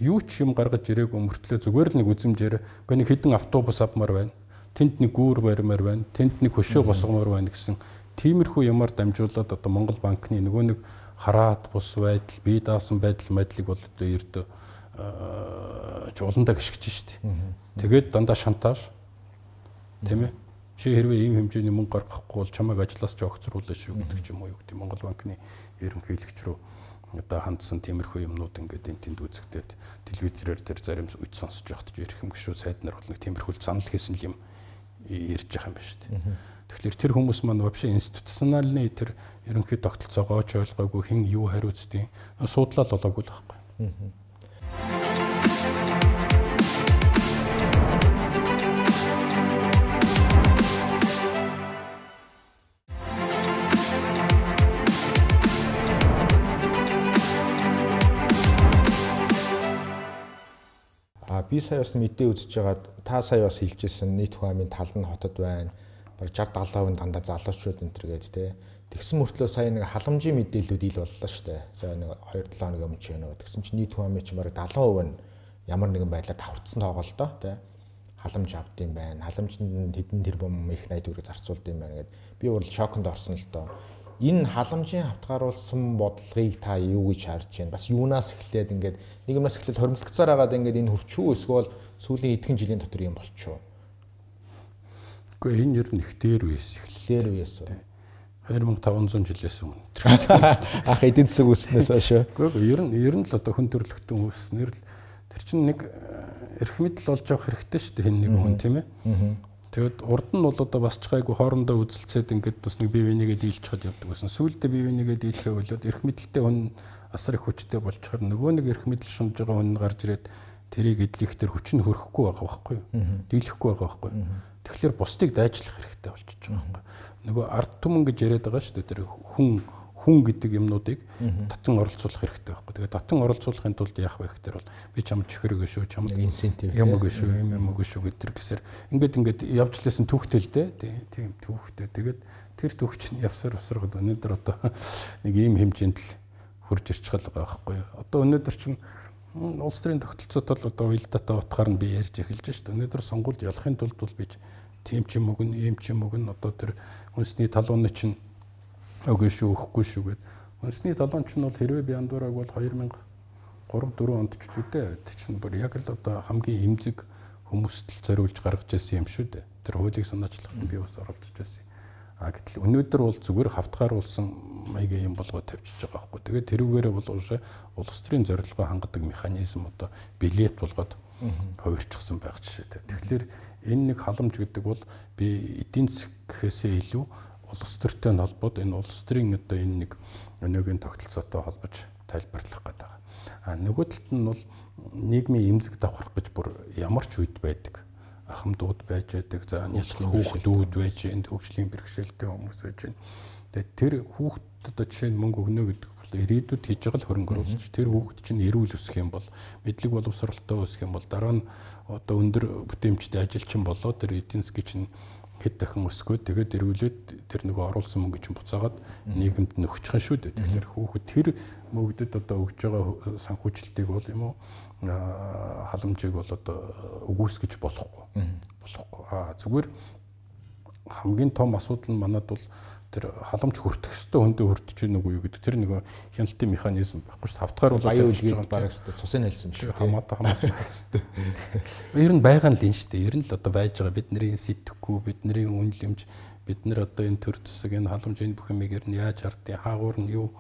юу ч юм гаргаж ирээгүй мөртлөө зүгээр л нэг үзэмжээр үгүй нэг хідэн автобус авмаар байна. Тэнд нэг гүүр баримаар байна. Тэнд нэг хөшөө босгомоор байна гэсэн тиймэрхүү юмар дамжуулаад одоо Монгол банкны нөгөө нэг хараат бус байдал, бие даасан байдал мэдлэг бол одоо ердөө жууландаа гიშгэж штеп. Тэгээд дандаа шантааж тийм ээ. Чи хэрвээ ийм хэмжээний мөнгө гаргахгүй бол чамайг ажлаас ч огцруулна шүү гэдэг ч юм уу юу гэдэг Монгол банкны ерөнхийлөгч рүү одоо хандсан тиймэрхүү юмнууд ингээд энэ тэнд үзэгдээд телевизээр тэр зарим үед сонсож явахд ч эрхэм гişүү сайд нар бол нэг тиймэрхүү занал хийсэн юм ярьж байгаа юм байна шүү дээ. Тэгэхээр тэр хүмүүс маань вообще институциональны тэр ерөнхий тогтолцоогоо ч ойлгоогүй хэн юу хариуцдгийг судлал болоогүй л байхгүй. Би сая бас мэдээ үзэж байгаад та сая бас хэлжсэн нийт хүн амын тал нь хотод байна. Бараг шестьдесят седьмиц дандаа залуучууд энэ төр гээд те. Тэгсэн мөртлөө сая нэг халамжийн мэдээллүүд ил боллоо шүү дээ. Сая нэг two seven хоног өмнө ч нөө. Тэгсэн чинь нийт хүн амын чинь бараг seventy percent нь ямар нэгэн байдлаар давхарцсан тоглолтоо те. Халамж авдсан байна. Халамжинд хэдэн тэрбум их найд үрэг зарцуулдсан байна гэд би бол шоконд орсон л доо. Энэ халамжийн хавтгааруулсан бодлогыг та юу гэж харж байна? Бас юунаас эхлээд ингээд нэг юмнаас эхлээд хоримтлогцоор хагаад ингээд энэ хурчүү эсвэл сүүлийн эдгэн жилийн дотор юм болчихоо. Гэхдээ энэ ер нь их дээр үеэс эхэллээ. Дээр үеэс үү? two thousand five hundred жилээс өмнө. Ах эдийн засаг үүснээс хойш. Гэхдээ ер нь ер нь л одоо хүн төрөлхтөн үүснээр л тэр чинь нэг эрх мэдэл болж явах хэрэгтэй шүү дээ хэн нэг хүн тийм ээ. Тэгэд урд нь бол одоо бас ч гайгүй хоорондоо үзэлцээд ингээд бас нэг бие бинийгээ дийлж чад явдаг гэсэн. Сүүлдээ бие бинийгээ дийлэхээ болоод эрх мэдэлтэй хүн асар их хүчтэй болчихоор нөгөө нэг эрх мэдэл шунж байгаа хүн гарч ирээд тэрийг эдлэх тэр хүч нь хөрөхгүй байгаа байхгүй юу? Дийлэхгүй байгаа байхгүй юу? Тэгэхээр бусдыг дайчлах хэрэгтэй болчихж байгаа байхгүй юу? Нөгөө ард түмэн гэж яриад байгаа шүү дээ тэр хүн хүн гэдэг юмнуудыг татан оролцуулах хэрэгтэй байхгүй. Тэгээ татан оролцуулахын тулд яах вэ гэхээр бол би чамд чихэрэг шүү, чамд инсентив юм уу шүү, юм юм уу шүү гэдэг гэсээр ингээд ингээд явж лээсэн түүхтэй л дээ. Тийм түүхтэй. Тэгээд тэр түүх чинь явсаар усрахад өнөөдөр одоо нэг ийм хэмжээнд л хурж ирчихэл байгаа байхгүй. Одоо өнөөдөр чинь улс төрийн тогтолцоот бол одоо уялдаатай утгаар нь би ярьж эхэлж шүү дээ. Өнөөдөр сонгуульд ялахын тулд бол би тийм ч юм уу гэн, ийм ч юм уу гэн одоо тэр үндэсний талууны чинь үгүй шүү, өгөхгүй шүү гэд. Үндэсний талуунч нь бол хэрвээ би андуураг бол two thousand three four онд ч үдээ. Тэг чинь бүр яг л одоо хамгийн эмзэг хүмүүст л зориулж гаргаж ирсэн юм шүү дээ. Тэр хуулийг санаачлахад би бас оролцож байсан. А гэтэл өнөөдөр бол зүгээр хавтгааруулсан маягийн юм болгоод тавьчихж байгаа байхгүй. Тэгээд тэрүүгээрээ бол улс төрийн зорилгоо хангадаг механизм одоо билет болгоод хувирчихсан байх жишээтэй. Тэгэхээр энэ нэг халамж гэдэг бол би эдийн засгээс илүү улс төртэй холбоод энэ улс төрийн одоо энэ нэг өнөөгийн тогтолцоотой холбож тайлбарлах гэдэг. А нөгөө талд нь бол нийгмийн эмзэг давхарах гэж бүр ямар ч үед байдаг. ахмадууд байж байдаг. За няцлах хүүхдүүд байж энэ хөгжлийн бэрхшээлтэй хүмүүс байж байна. Тэгээд тэр хүүхдэд одоо жишээ нь мөнгө өгнө гэдэг бол ирээдүйд хийж байгаа л хөрөнгө оруулалт. Тэр хүүхд чинь эрүүл өсөх юм бол, мэдлэг боловсролтой өсөх юм бол дараа нь одоо өндөр бүтээмжтэй ажилчин болоод тэр эдийн засгийн чинь хэд дахин өсгөө тэгээд эрүүлээд тэр нөгөө оруулсан мөнгө чинь буцаагаад нийгэмд нөхчих шүү дээ. Тэгэхээр хүүхэд тэр мөгдөд одоо өгж байгаа санхүүжилтийг бол юм уу халамжийг бол одоо үгүйсгэж болохгүй. Болохгүй. Аа зүгээр хамгийн том асуудал нь манад бол тэр халамж хүртэх ёстой хүндээ хүртэж гэнэ үгүй юу гэдэг тэр нэг хяналтын механизм байхгүй шүү дээ. Тавтгаар бол аюул гэж бараг шүү дээ. Цусын хэлсэн шүү. Хамаатай хамаатай шүү дээ. Ер нь байгаа нь л энэ шүү дээ. Ер нь л одоо байж байгаа бидний сэтгэхгүй, бидний үнэлэмж, бид нар одоо энэ төр зэсэг энэ халамж энэ бүх юмыг ер нь яаж хардیں۔ Хаагуур нь юу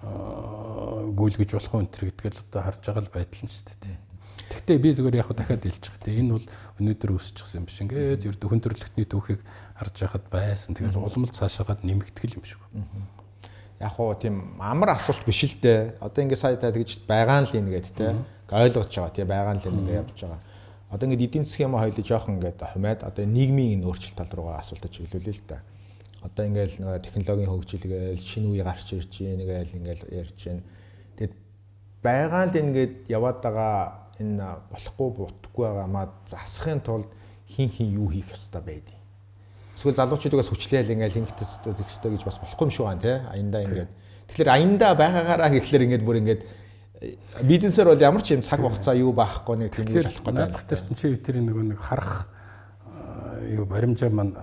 гүйлгэж болох вэ энэ гэдгээл одоо харж байгаа л байдал нь шүү дээ. Гэхдээ би зүгээр яг дахиад хэлж байгаа. Тэгээ энэ бол өнөөдөр үүсчихсэн юм биш. Ингээд ердөө хүн төрөлхтний түүхийг харж байхад байсан. Тэгэл улмал цаашаагаад нэмэгдэх юм шиг. Яг уу тийм амар асуулт биш л дээ. Одоо ингээд сая та тэгж байгаа нь л энэ гээд те. Ойлгож байгаа тийм байгаа нь л ингэ явж байгаа. Одоо ингээд эдийн засгийн юм хоёул жоохон ингээд хумаад одоо нийгмийн энэ өөрчлөлт тал руугаа асуултад чиглүүлээ л да. Одоо ингээд нэг технологийн хөгжил гээл шинэ үе гарч ирж байна гээл ингээд ярьж байна. Тэгэд байгаа л ингээд яваад байгаа энэ болохгүй бутахгүй байгаамаа засахын тулд хин хин юу хийх ёстой байдیں۔ Эсвэл залуучуудаас хүчлээл ингээл ингэдэс тексттэй гэж бас болохгүй юм шүү ган тий. Аяндаа ингээд. Тэгэхээр аяндаа байгаагаараа гэхлээр ингээд бүр ингээд бизнесээр бол ямар ч юм цаг хугацаа юу баахгүй нэг тийм л болохгүй. Наадах тэр чинь тэр нөгөө нэг харах юу баримжаа маань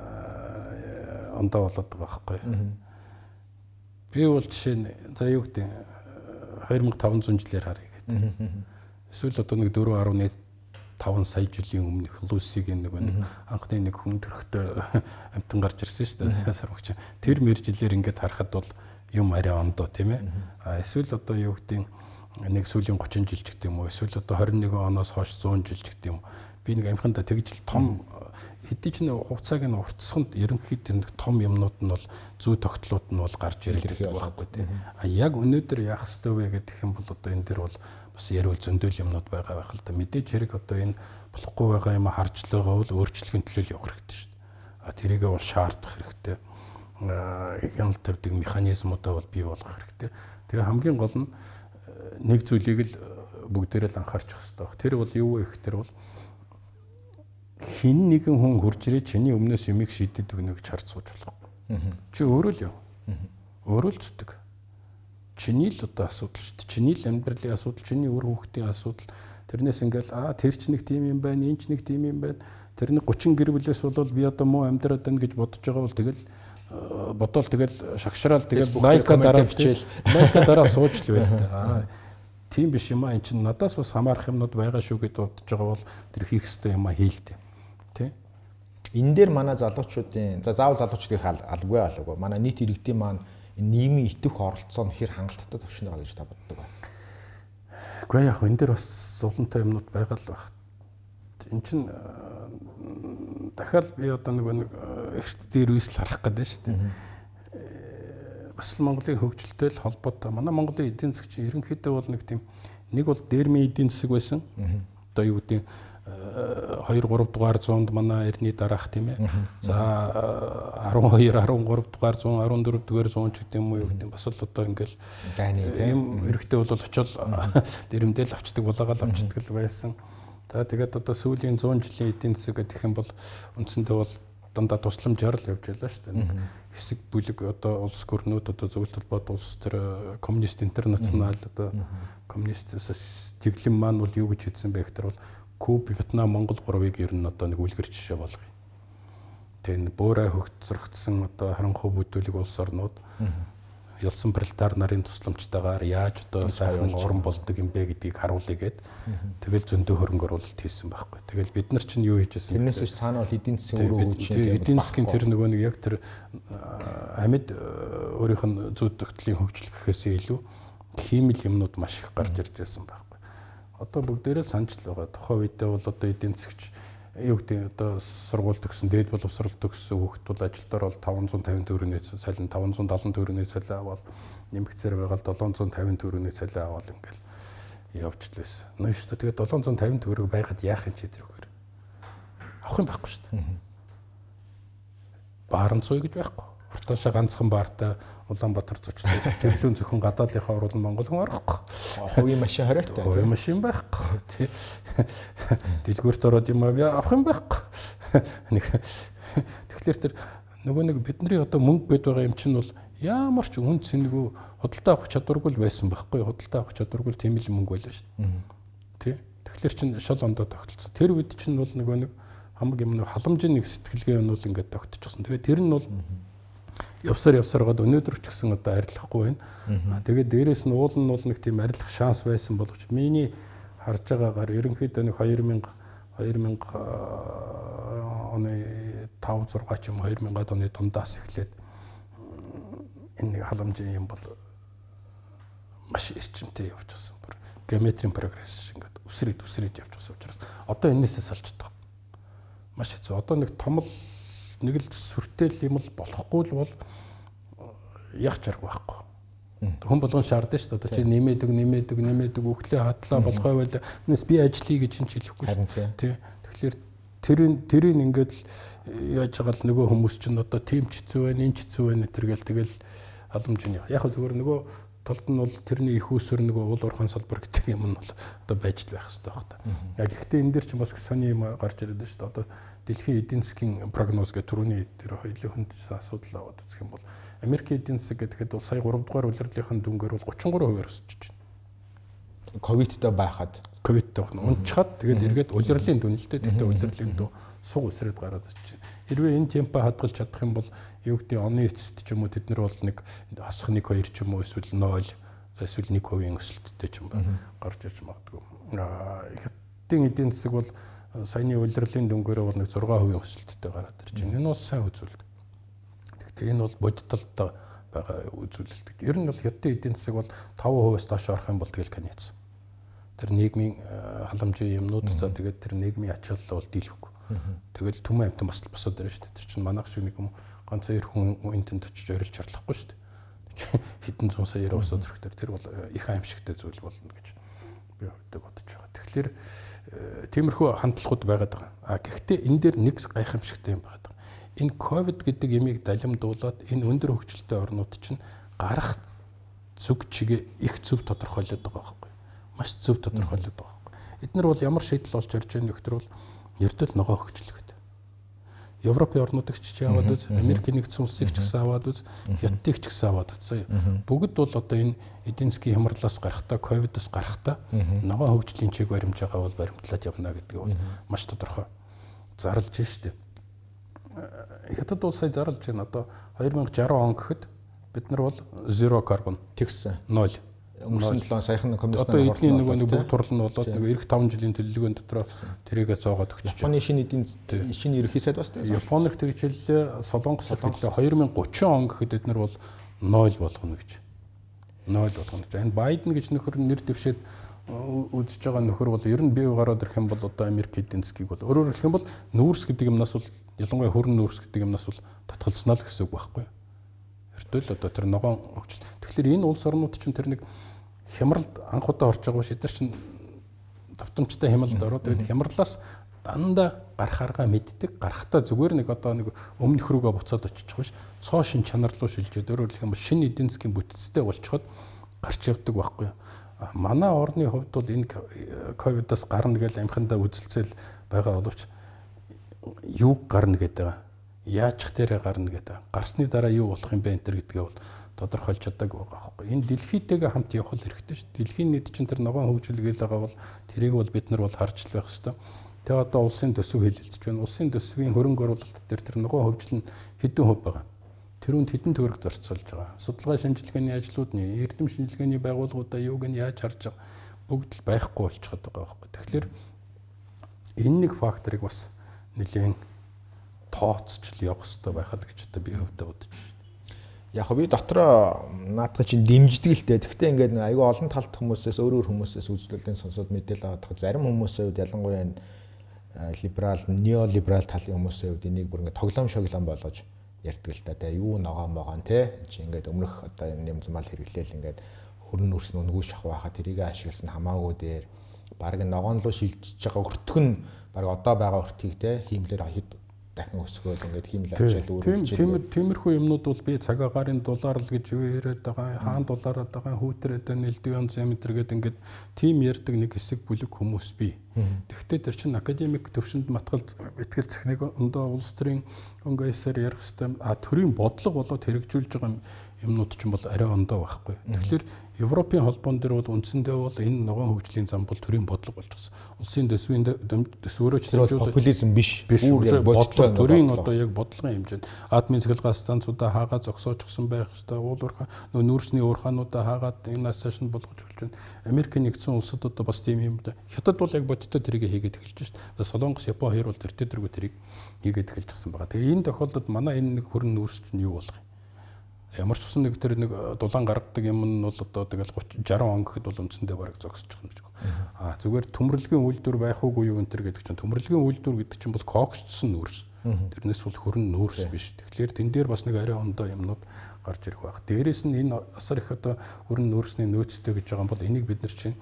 ондоо болоод байгаа байхгүй. Би бол жишээ нь за юу гэдэг two thousand five hundred жилээр харъя гэдэг. Эсвэл одоо нэг four point five сая жилийн өмнөх Лусигийн нэг анхны нэг хүн төрхтөө амтан гарч ирсэн шүү дээ сармагч. Тэр мэр жилээр ингээд харахад бол юм арай ондоо тийм ээ. А эсвэл одоо юу гэдэг нэг сүүлийн thirty жил ч гэдэг юм уу. Эсвэл одоо twenty-one оноос хойш one hundred жил ч гэдэг юм. Би нэг амхандаа тэгж том хэдий ч нэг хугацааг нь уртсаханд ерөнхийдөө нэг том юмнууд нь бол зүй тогтлууд нь бол гарч ирэх байхгүй тийм. А яг өнөөдөр яах ёстой вэ гэдэг юм бол одоо энэ дэр бол бас ярил зөндөл юмнууд байгаа байх л да. Мэдээж хэрэг одоо энэ болохгүй байгаа юм харж л байгаа бол өөрчлөлийн төлөө явах хэрэгтэй шүү дээ. А тэрийгээ бол шаардах хэрэгтэй. Аа хяналт тавьдаг механизмуудаа бол бий болгох хэрэгтэй. Тэгээ хамгийн гол нь нэг зүйлийг л бүгдээрээ л анхаарч явах хэрэгтэй. Тэр бол юу вэ гэхээр бол хин нэгэн хүн хурж ирээ чиний өмнөөс юмыг шийдэд өгнө гэж харж сууж болохгүй. Чи өөрөө л яв. Өөрөө л зүтг. Чиний л одоо асуудал шүү дээ. Чиний л амьдралын асуудал, чиний үр хүүхдийн асуудал. Тэрнээс ингээл аа тэр ч нэг тийм юм байна, энэ ч нэг тийм юм байна. Тэр нэг thirty гэр бүлээс бол би одоо муу амьдраад байна гэж бодож байгаа бол тэгэл бодоол тэгэл шагшраал тэгэл лайка дараа бичээл лайка дараа сууж л байл та. Аа тийм биш юм аа эн чинь надаас бас хамаарах юмнууд байгаа шүү гэж бодож байгаа бол тэр хийх ёстой юм аа хийлдэ. Тэ? Энэ дээр манай залуучуудын за заавал залуучдын албагүй албагүй. Манай нийт иргэдийн маань нийгмийн итвэх оролцоо нь хэр хангалттай төвшин байгаа гэж та боддог байна. Гэхдээ яг энэ дээр бас зовлонтой юмнууд байгаа л баг. Эн чинь дахиад би одоо нэг нэг эрт дээр үйсэл харах гэдэг шүү дээ. Бас л Монголын хөгжилтэй л холбоотой. Манай Монголын эдийн засаг чинь ерөнхийдөө бол нэг тийм нэг бол дээрмийн эдийн засаг байсан. Одоо юу гэдэг two three дугаар зуунд манай эртний дараах тийм ээ. За twelve thirteen дугаар зуун fourteen дугаар зуун ч гэдэг юм уу юу гэдэг бас л одоо ингээл дайны тийм эрэхтэй бол очил дэрэмдэл авчдаг булаагаал авчдаг л байсан. За тэгээд одоо сүүлийн one hundred жилийн эдийн засаг гэх юм бол үндсэндээ бол дандаа тусламжаар л явж байлаа шүү дээ. Хэсэг бүлэг одоо улс гүрнүүд одоо зөвлөлт холбоот улс төр коммунист интернационал одоо коммунист тэглэм маань бол юу гэж хэлсэн бэ гэхээр бол Куб, Вьетнам, Монгол гурвыг ер нь одоо нэг үлгэр жишээ болгоё. Тэгээ буурай хөгцөрөгдсөн одоо харанхуй бүдүүлэг улс орнууд ялсан пролетар нарын тусламжтайгаар яаж одоо сайхан орон болдог юм бэ гэдгийг харуулъя гэд тэгэл зөндөө хөрөнгө оруулалт хийсэн байхгүй. Тэгэл бид нар чинь юу хийжсэн бэ? Тэрнээс цаана бол эдийн засгийн өрөө хөгжиж эдийн засгийн тэр нөгөө нэг яг тэр амьд өөрийнх нь зүй тогтлын хөгжил гэхээсээ илүү хиймэл юмнууд маш их гарч ирж байсан байхгүй. Одоо бүгдээрээ санаж л байгаа. Тухайн үедээ бол одоо эдийн засгч юу гэдэг одоо сургууль төгссөн, дээд боловсрол төгссөн хүүхэд бол ажилдаар бол five hundred fifty төгрөгийн цалин, five hundred seventy төгрөгийн цалин аваад нэмэгцээр байгаа seven hundred fifty төгрөгийн цалин аваад ингээл явж л байсан. Нөө шүү дээ. Тэгээд seven hundred fifty төгрөг байгаад яах юм чи тэрүүгээр. авах юм байхгүй шүү дээ. Баарн цуй гэж байхгүй. Уртаашаа ганцхан баартай Улаанбаатар зочдод тэрлүүн зөвхөн гадаадынхаа орол Монгол хүн орохгүй. Хувийн машин хориотой. Хувийн машин байхгүй. Тий. Дэлгүүрт ороод юм авах юм байхгүй. Нэг тэгэхээр тэр нөгөө нэг бидний одоо мөнгө гээд байгаа юм чинь бол ямар ч үн цэнэгүй худалдаа авах чадваргүй байсан байхгүй. Худалдаа авах чадваргүй тийм л мөнгө байлаа шүү дээ. Тий. Тэгэхээр чин шал ондоо тогтолцсон. Тэр үед чинь бол нөгөө нэг хамаг юм нэг халамжийн нэг сэтгэлгээ юм бол ингээд тогтчихсон. Тэгээд тэр нь бол явсаар явсараад өнөөдөр ч гэсэн одоо арилахгүй байна. Тэгээд дээрээс нь уул нь бол нэг тийм арилах шанс байсан боловч миний харж байгаагаар ерөнхийдөө нэг хоёр мянга оны тав зураг ч юм хоёр мянгад оны дундаас эхлээд энэ нэг халамжийн юм бол маш эрчимтэй явж байгаа. Бүр геометрийн прогресс ингээд үсрээд үсрээд явж байгаа учраас одоо энээсээ салж байгаа. Маш хэцүү. Одоо нэг том л нэг л сүртэл юм л болохгүй л бол яг чарга байхгүй. Хүн болгон шаардсан шүү дээ. Одоо чи нэмээдэг, нэмээдэг, нэмээдэг өглөө хадлаа болгоо байл. Энэс би ажиллая гэж энэ ч хэлэхгүй шүү. Тий. Тэгэхээр тэрийн тэрийн ингээд яаж байгаа л нөгөө хүмүүс чинь одоо тийм ч хэцүү байна, энэ ч хэцүү байна тэргээл тэгэл халамжийн. Яг зүгээр нөгөө толд нь бол тэрний их усүр нөгөө уул уурхайн салбар гэдэг юм нь бол одоо байж л байх хэрэгтэй байх та. Яг гэхдээ энэ дэр ч бас сони юм гарч ирээд байна шүү дээ. Одоо дэлхийн эдийн засгийн прогноз гэх түрүүний тэр хоёулын хүнд асуудал аваад үзэх юм бол Америк эдийн засаг гэхэд бол сая гурав дугаар улирлынхаа дүнгээр бол гучин гурван хувиар өсөж байна. Ковидтэй байхад ковидтэй байна. Унчхад тэгээд эргээд улирлын дүн л дээ. Тэгтээ улирлын дүн суг усрээд гараад ирж байна. Хэрвээ энэ темпо хадгалж чадах юм бол юу гэдэг оны эцэст ч юм уу тэд нар бол нэг асах нэг хоёр ч юм уу эсвэл ноль эсвэл нэг хувийн өсөлттэй ч юм ба гарч ирж магадгүй. Хятадын эдийн засаг бол саяны улирлын дүнгээр бол нэг зургаан хувийн өсөлттэй гараад ирж байна. Энэ бол сайн үзүүлэлт. Гэхдээ энэ бол бодитолтой байгаа үзүүлэлт. Ер нь бол хятадын эдийн засаг бол таван хувиас доош орох юм бол тэгэл каниц. Тэр нийгмийн халамжийн юмнууд за тэгээд тэр нийгмийн ач холбогдол бол дийлэхгүй. Тэгэл түмэн амтан бас босоод ирж шүү дээ. Тэр чинь манайх шиг нэг юм ганц хоёр хүн энтэнд очиж орилж чарлахгүй шүү дээ. Хэдэн зуун саяар босоод ирэхдээ тэр бол их аимшигтай зүйл болно гэж би өөртөө бодож байгаа. Тэгэхээр тиймэрхүү хандлагууд байгаад байгаа. А гэхдээ энэ дээр нэг гайхамшигтай юм байгаад байгаа. Энэ ковид гэдэг ямиг далимдуулаад энэ өндөр хөгжилтэй орнууд чинь гарах зүг чигээ их зөв тодорхойлоод байгаа байхгүй. Маш зөв тодорхойлоод байгаа байхгүй. Эднэр бол ямар шийдэл болж ирж байгаа нөхдөр бол ердөө ногоо хөгжлөгд. Европын орнуудыг ч аваад үз, Америкийн нэгдсэн улсыг ч гэсэн аваад үз, Хятадыг ч гэсэн аваад үз. Бүгд бол одоо энэ эдийн засгийн хямралаас гарахтаа, ковидоос гарахтаа ногоо хөгжлийн чиг баримж байгаа бол баримтлаад явна гэдэг бол маш тодорхой зарлж штеп. Хятад бол сая зарлж байна. Одоо хоёр мянга сарван он гэхэд бид нар бол zero carbon тэгсэн ноль. Өнгөрсөн жилийн саяхан комиссны одоо эдний нөгөө нэг бүх турал нь болоод нэг эх таван жилийн төлөвлөгөөнд дотор тэрийгээ зоогоод өгч. Японы шинэ эдийн шинэ ерөнхий сайд бас тийм. Японых тэр хичээлээ Солонгос хэлээ хоёр мянга гучин он гэхэд эднэр бол ноль болгоно гэж. ноль болгоно гэж. Энэ Байден гэж нөхөр нэр дэвшээд үзэж байгаа нөхөр бол ер нь бие гараад ирэх юм бол одоо Америк эдийн засгийг бол өөрөөр хэлэх юм бол нүүрс гэдэг юмнаас бол ялангуяа хөрн нүүрс гэдэг юмнаас бол татгалзнаа л гэсэн үг байхгүй. Эртэл одоо тэр ногоон хөгжил. Тэгэхээр энэ улс орнууд чинь тэр нэг хямралд анх удаа орж байгаа биш эдгээр чинь давтамжтай хямралд ороод тэгээд хямралаас дандаа гарахааргаа мэддэг гарахтаа зүгээр нэг одоо нэг өмнөх рүүгээ буцаад очиж байгаа биш цоо шин чанар руу шилжээд өөрөөр хэлэх юм бол шинэ эдийн засгийн бүтцтэй болчиход гарч явдаг байхгүй. Манай орны хувьд бол энэ ковидоос гарна гэж амхандаа үзэлцэл байгаа боловч юу гарна гэдэг байгаа. Яачих дээрээ гарна гэдэг. Гарсны дараа юу болох юм бэ энэ төр гэдгээ бол тодорхойлж чадаагүй байгаа байхгүй. Энэ дэлхийтэйгээ хамт явах хэрэгтэй шүү дээ. Дэлхийн нийт чинь тэр ногоон хөгжил гээл байгаа бол тэрийг бол бид нар бол харж л байх хэрэгтэй. Тэгээ одоо улсын төсөв хэлэлцэж байна. Улсын төсвийн хөрөнгө оруулалт дээр тэр ногоон хөгжил нь хэдэн хувь байгаа. Тэрүүнд хэдэн төгрөг зарцуулж байгаа. Судалгаа шинжилгээний ажлуудны эрдэм шинжилгээний байгууллагуудаа юуг нь яаж харж байгаа бүгд л байхгүй болчиход байгаа байхгүй. Тэгэхээр энэ нэг факторыг бас нэлээд тооцчл явах хэрэгтэй байхад гэж одоо би өвдө бодож байна. Яг би дотроо наадах чинь дэмждэг л дээ. Гэхдээ ингээд айгүй олон талт хүмүүсээс өөр өөр хүмүүсээс үзүүлэлтийн сонсоод мэдээлэл авах зарим хүмүүсийн хувьд ялангуяа либерал, неолиберал талын хүмүүсийн хувьд энийг бүр ингээд тоглоом шоглоом болгож ярьдаг л да. Тэгээ юу ногоон могоон те чи ингээд өмнөх одоо юм замал хэрэглээл ингээд хөрн нүрс нүгүү шахах байхад тэрийг ашигласан хамаагүй дээр баг ногоон руу шилжиж байгаа өртөх нь баг одоо байгаа өртгийг те хиймлэр хэд дахин өсгөөд ингээд хиймэл авчаад өөрчлөж тийм тиймэрхүү юмнууд бол би цаг агаарын дулаар л гэж юу яриад байгаа хаан дулаараад байгаа хүүтрээд нэлдүү янз юм гэдэг ингээд тим ярьдаг нэг хэсэг бүлэг хүмүүс бий. Тэгвэл тэр чинь академик төвшөнд матгал ихтгэл цэхнийг өндөө улс төрийн конгрессээр ярих хэвээр а төрийн бодлого болоод хэрэгжүүлж байгаа юмнууд ч бол арай ондоо байхгүй. Тэгэхээр Европын холбоон дээр бол үндсэндээ бол энэ ногоон хөгжлийн зам бол төрийн бодлого болж байгаа. Улсын дэсвийн дэсвөрөөч популизм биш. Бүр бодлого төрийн одоо яг бодлогын хэмжээнд админ цэглэгээс станцуудаа хаагаад зогсоочсон байх ёстой. Уулуурхаа нөө нүүрсний уурхаануудаа хаагаад энэ ассашн болгож эхэлж байна. Америк нэгдсэн улсад одоо бас тийм юм да. Хятад бол яг бодиттой тэрийг хийгээд эхэлж байна. Солонгос, Япон хоёр бол тэр тэргүй тэрийг хийгээд эхэлж гсэн байгаа. Тэгээ энэ тохиолдолд манай энэ нэг хөрөн нүүрс чинь юу болох юм? Ямар ч усан нэг тэр нэг дулаан гаргадаг юм нь бол одоо тэгэл тридцать сixty он гэхэд бол үндсэндээ бараг зогсчих юм шиг. Аа зүгээр төмөрлөгийн үйлдвэр байх уугүй юу энэ төр гэдэг чинь төмөрлөгийн үйлдвэр гэдэг чинь бол коогчдсон нүүрс. Тэрнээс бол хөрөн нүүрс биш. Тэгэхээр тэн дээр бас нэг арай ондоо юмнууд гарч ирэх байх. Дээрээс нь энэ асар их одоо хөрөн нүүрсний нөөцтэй гэж байгаа юм бол энийг бид нар чинь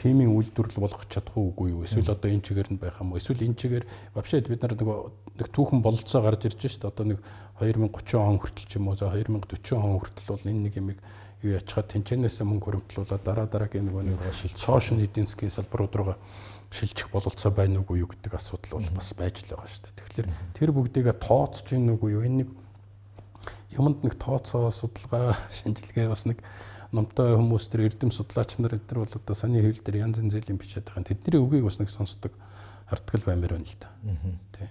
химийн үйлдвэрлэл болгох чадахгүй юу? Эсвэл одоо энэ чигээр нь байх юм уу? Эсвэл энэ чигээр вообще бид нар нөгөө нэг түүхэн бололцоо гарч ирж шүү дээ. Одоо нэг twenty thirty он хүртэл ч юм уу за twenty forty он хүртэл бол энэ нэг юмыг юу ячхад тэнцэнээс мөнгө хөрөмтлүүлээд дараа дараагийн нөгөө нэг шилжсэн эдийн засгийн салбарууд руугаа шилжих бололцоо байна уугүй юу гэдэг асуудал бол бас байж л байгаа шүү дээ. Тэгэхээр тэр бүгдийг тооцож ийн үгүй юу? Энэ нэг юмд нэг тооцоо судалгаа шинжилгээ бас нэг номтой хүмүүс төр эрдэм судлаач нар энэ бол одоо саний хэвлэл дээр янз янз зэлийн бичээд байгаа. Тэдний үгийг бас нэг сонсдог хардгал баймаар байна л да. Тий.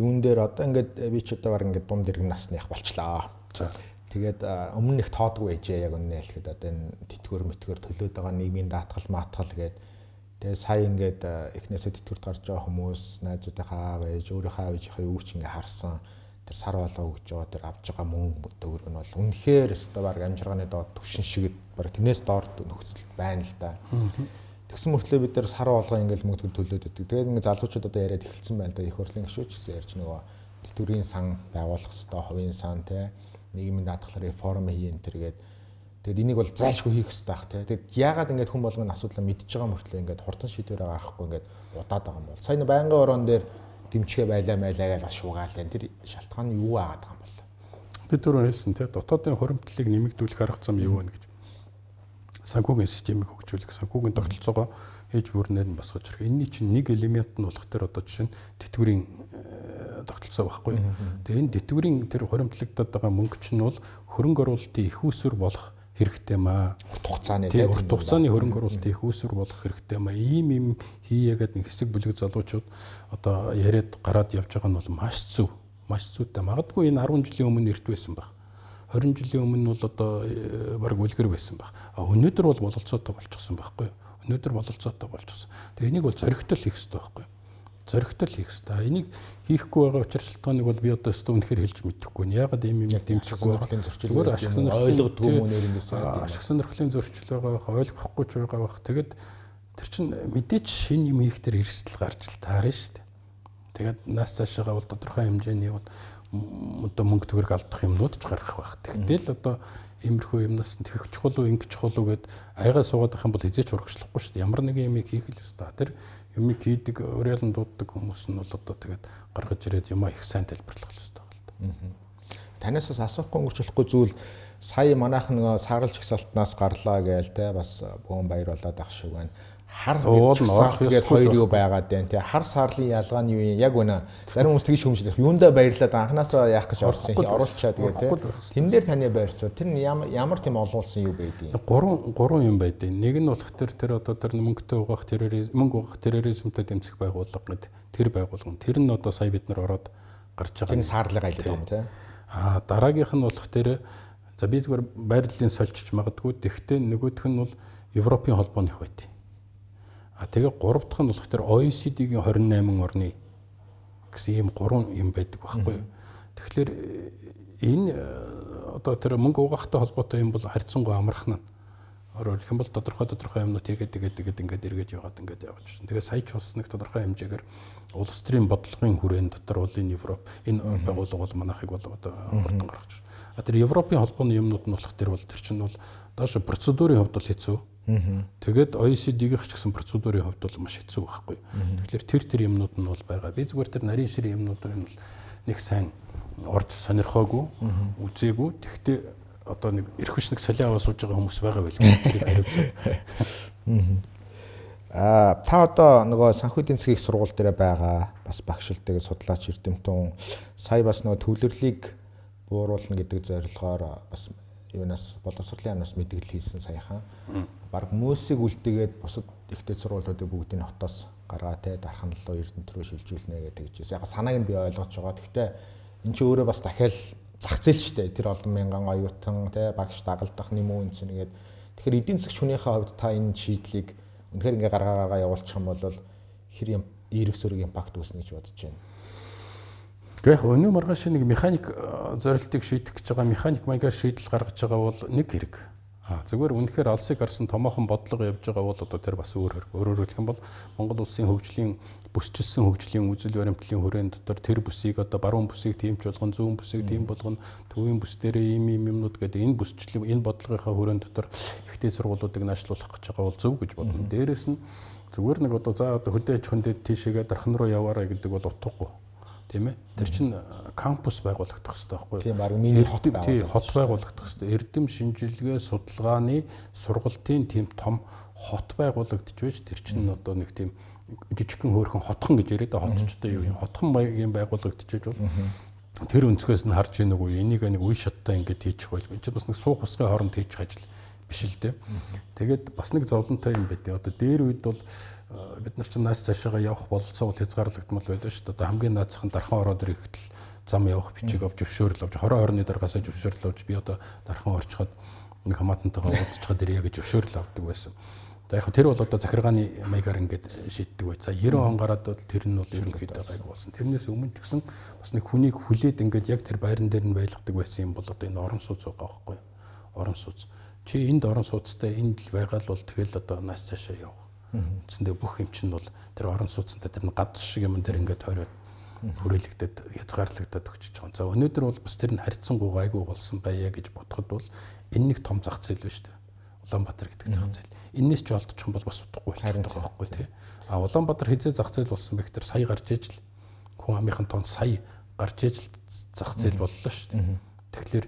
Юун дээр одоо ингээд би ч одоо баг ингээд дунд иргэн насных болчлаа. За. Тэгээд өмнө их тоодгүй ээжээ яг үнэ хэлэхэд одоо энэ тэтгэр мэтгэр төлөөд байгаа нийгмийн даатгал маатгал гээд тэгээ сая ингээд эхнээсээ тэтгэрт гарч байгаа хүмүүс найзуудынхаа аав ээж өөрийнхөө аав ээжийнхээ юу ч ингээд харсан тэр сар болоо өгж байгаа тэр авж байгаа мөнгө төгрөг нь бол үнэхээр өстой баг амжиргааны доод төвшин шиг баг тэрнээс доор нөхцөл байна л да. Тэгсэн мөртлөө бид нар сар болгоо ингээд мөнгө төлөөд өгдөг. Тэгээд ингээд залуучууд одоо яриад эхэлсэн байна да. Их хурлын гишүүч гэсэн ярьж нөгөө тэтгэврийн сан байгуулах хэвээр хувийн сан те нийгмийн даатгалаар реформ хийн тэргээд тэгээд энийг бол зайлшгүй хийх хэрэгтэй бах те. Тэгээд яагаад ингээд хүн болгоны асуудлаа мэдж байгаа мөртлөө ингээд хурдан шийдвэрээ гаргахгүй ингээд удаад байгаа юм бол сая байнгын орон дээр дэмчгээ байлаа майлаа гэж бас шуугаал энэ тэр шалтгаан нь юу аагаад байгаа юм бол бид түрүү хэлсэн те дотоодын хуримтлалыг нэмэгдүүлэх арга зам юу вэ гэж санхүүгийн системийг хөгжүүлэх санхүүгийн тогтолцоогоо ээж бүрнээр нь босгож ирэх. Энийний чинь нэг элемент нь болох тэр одоо жишээ нь тэтгэврийн тогтолцоо байхгүй. Тэгээ энэ тэтгэврийн тэр хуримтлагдаад байгаа мөнгө чинь бол хөрөнгө оруулалтын их үүсвэр болох хэрэгтэй маа. Урт хугацааны тийм урт хугацааны хөрөнгө оруулалтын их үүсвэр болох хэрэгтэй маа. Ийм юм хийгээд нэг хэсэг бүлэг залуучууд одоо яриад гараад явж байгаа нь бол маш зөв. Маш зүйтэй. Магадгүй энэ ten жилийн өмнө эрт байсан баг. twenty жилийн өмнө бол одоо баг үлгэр байсан баг. А өнөөдөр бол бололцоотой болчихсон байхгүй юу? Өнөөдөр бололцоотой болчихсон. Тэгээ энийг бол зоригтой хийх хэрэгтэй байхгүй юу? Зоригтой хийх хэрэгтэй. Энийг хийхгүй байгаа учир шалтгааныг бол би одоо өстө үнэхээр хэлж мэдэхгүй нь. Яагаад ийм юм дэмжихгүй байгаа? Зүгээр ашиг сонирхлын ойлгодгүй юм нэрнээс ашиг сонирхлын зөрчил байгаа, ойлгохгүй ч байгаа бах. Тэгээд тэр чин мэдээч шинэ юм хийх тэр эрсдэл гарч л таарна шүү дээ. Тэгээд нас цаашаага бол тодорхой хэмжээний бол одоо мөнгө төгрөг алдах юмнууд ч гарах байх. Тэгтэл одоо иймэрхүү юмнаас тэгэх чухал уу ингэж чухал уу гэд аягаа суугаад ах юм бол хизээч урагшлахгүй шүү дээ. Ямар нэгэн юмыг хийх л ёстой. Тэр юмыг хийдэг уриалан дууддаг хүмүүс нь бол одоо тэгээд гаргаж ирээд юмаа их сайн тайлбарлах ёстой байна л да. Танаас бас асуухгүй өнгөрчлөхгүй зүйл сая манайхан нөгөө сааралж гисалтнаас гарлаа гээл те бас бөөн баяр болоод ах шиг байна. Хар гэдэг хоёр юу байгаад байна те хар саарлын ялгаа нь юу юм яг үнэ зарим хүмүүс тэгж хүмжлэх юундаа баярлаад анханасаа яах гэж орсон оруулчаад тэгээ те тэн дээр таны байрсуу тэр ямар тийм олуулсан юу байдیں۔ Гурван гурван юм байдیں۔ Нэг нь болох тэр тэр одоо тэр мөнгөтэй угаах терроризм мөнгө угаах терроризмтэй дэмжих байгууллага гэдэг тэр байгууллага тэр нь одоо сая бид нар ороод гарч байгаа. Тэр саарлыг айлдаг юм те. Аа дараагийнх нь болох тэр за би зүгээр байрлалын сольчж магадгүй тэгтээ нөгөөх нь бол Европын холбооных байт. А тэгээ гурав дахь нь болох тэр O E C D-ийн twenty-eight орны гэсэн ийм гурван юм байдаг байхгүй юу. Тэгэхээр энэ одоо тэр мөнгө угаахтай холбоотой юм бол харьцангуй амархан нь. Өөрөөр хэлэх юм бол тодорхой тодорхой юмнууд тэгээд тэгээд тэгээд ингээд эргэж яваад ингээд явж байна. Тэгээ сая ч бас нэг тодорхой хэмжээгээр улс төрийн бодлогын хүрээнд дотор бол энэ Европ энэ байгууллага бол манайхыг бол одоо хурдан гаргаж байна. А тэр Европын холбооны юмнууд нь болох тэр бол тэр чинь бол доош процедурын хувьд бол хэцүү. Тэгээд о и си ди-ийн ч гэсэн процедурын хувьд бол маш хэцүү байхгүй. Тэгэхээр тэр тэр юмнууд нь бол байгаа. Би зүгээр тэр нарийн ширээ юмнуудыг нь бол нэг сайн орж сонирхоогүй, үзээгүй. Тэгтээ одоо нэг эрх хүч нэг солио аваа сууж байгаа хүмүүс байгаа байл. Тэрийг хариуцсан. Аа та одоо нөгөө санхүү эдийн засгийн их сургууль дээр байгаа бас багшилтыг судлаач Эрдэмтэн сая бас нөгөө төвлөрлийг бууруулна гэдэг зорилгоор бас юунаас боловсролын яамнаас мэдээлэл хийсэн саяхан. Бараг мөөсийг үлдээгээд бусад ихтэй сургуулиудыг бүгдийг нь хотоос гаргаа те дархан руу Эрдэнэт рүү шилжүүлнэ гэдэг чинь яг санааг нь би ойлгож байгаа. Гэхдээ эн чинь өөрөө бас дахиад зах зээл шүү дээ. Тэр олон мянган оюутан те багш дагалдах нэм үн цэн гэдэг. Тэгэхээр эдийн засгч хүнийхээ хувьд та энэ шийдлийг үнэхээр ингээ гаргаагаа явуулчих юм бол хэр юм эерэг сөрөг импакт үүснэ гэж бодож байна. Гэхдээ яг өнөө маргааш нэг механик зорилтыг шийдэх гэж байгаа механик маягаар шийдэл гаргаж байгаа бол нэг хэрэг. Аа зүгээр үнэхээр алсыг харсан томоохон бодлого явж байгаа бол одоо тэр бас өөр хэрэг. Өөрөөр хэлэх юм бол Монгол улсын хөгжлийн бүсчилсэн хөгжлийн үзэл баримтлалын хүрээнд дотор тэр бүсийг одоо баруун бүсийг тиймч болгон зүүн бүсийг тийм болгоно төвийн бүс дээрээ ийм ийм юмнууд гэдэг энэ бүсчлэл энэ бодлогынхаа хүрээнд дотор ихтэй сургуулиудыг наашлуулах гэж байгаа бол зөв гэж бодно. Дээрээс нь зүгээр нэг одоо за одоо хөдөө аж хүндэд тийшээгээ дархан руу яваарай гэдэг бол утгагүй. Тийм ээ. Тэр чинь кампус байгуулагдах хэрэгтэй байхгүй юу? Тийм баг миний хот байгуулагдах. Хот байгуулагдах хэрэгтэй. Эрдэм шинжилгээ судалгааны сургалтын тийм том хот байгуулагдчих байж тэр чинь одоо нэг тийм жижигхэн хөөрхөн хотхон гэж яриад хотчтой юу юм. Хотхон маягийн байгуулагдчих бол тэр өнцгөөс нь харж ийн үгүй энийг нэг үе шаттай ингэж хийчих байл. Энд чинь бас нэг суух усны хооронд хийчих ажил биш л дээ. Тэгээд бас нэг зовлонтой юм байдیں۔ Одоо дээр үед бол бид нар чинь нааш цаашаа явах бололцоо хязгаарлагдмал байлаа шүү дээ. Одоо хамгийн наацхан дархан ороод ирэхдээ зам явах бичиг авч өвшөөрөл авч хороо хорны даргаасаа өвшөөрөл авч би одоо дархан орчход нэг хамаатантайгаа уулзчихад ирье гэж өвшөөрөл авдаг байсан. За яг тэр бол одоо захиргааны маягаар ингээд шийддэг бай. За девяносто он гараад бол тэр нь бол ерөнхийдөө гайг болсон. Тэрнээс өмнө ч гэсэн бас нэг хүнийг хүлээд ингээд яг тэр байран дээр нь байлгадаг байсан юм бол одоо энэ орон сууц байгаа байхгүй юу? Орон сууц. Чи энд орон сууцтай энд л байгаа л бол тэгэл одоо нааш цаашаа явах. Үндсэндээ бүх юм чинь бол тэр орон сууцтай тэр гадс шиг юм дээр ингээд тойроод хүрээлэгдээд хязгаарлагдаад өгчөж байгаа. За өнөөдөр бол бас тэр нь харьцангуй гайгүй болсон байя гэж бодоход бол энэ нэг том зах зээл байна шүү дээ. Улаанбаатар гэдэг зах зээл. Энээс ч олдчих юм бол бас утгагүй болчихдог байгаа байхгүй тий. А Улаанбаатар хизээ зах зээл болсон бэ гэхээр сая гарч ээж л хүн амынхан тон сая гарч ээж л зах зээл боллоо шүү дээ. Тэгэхээр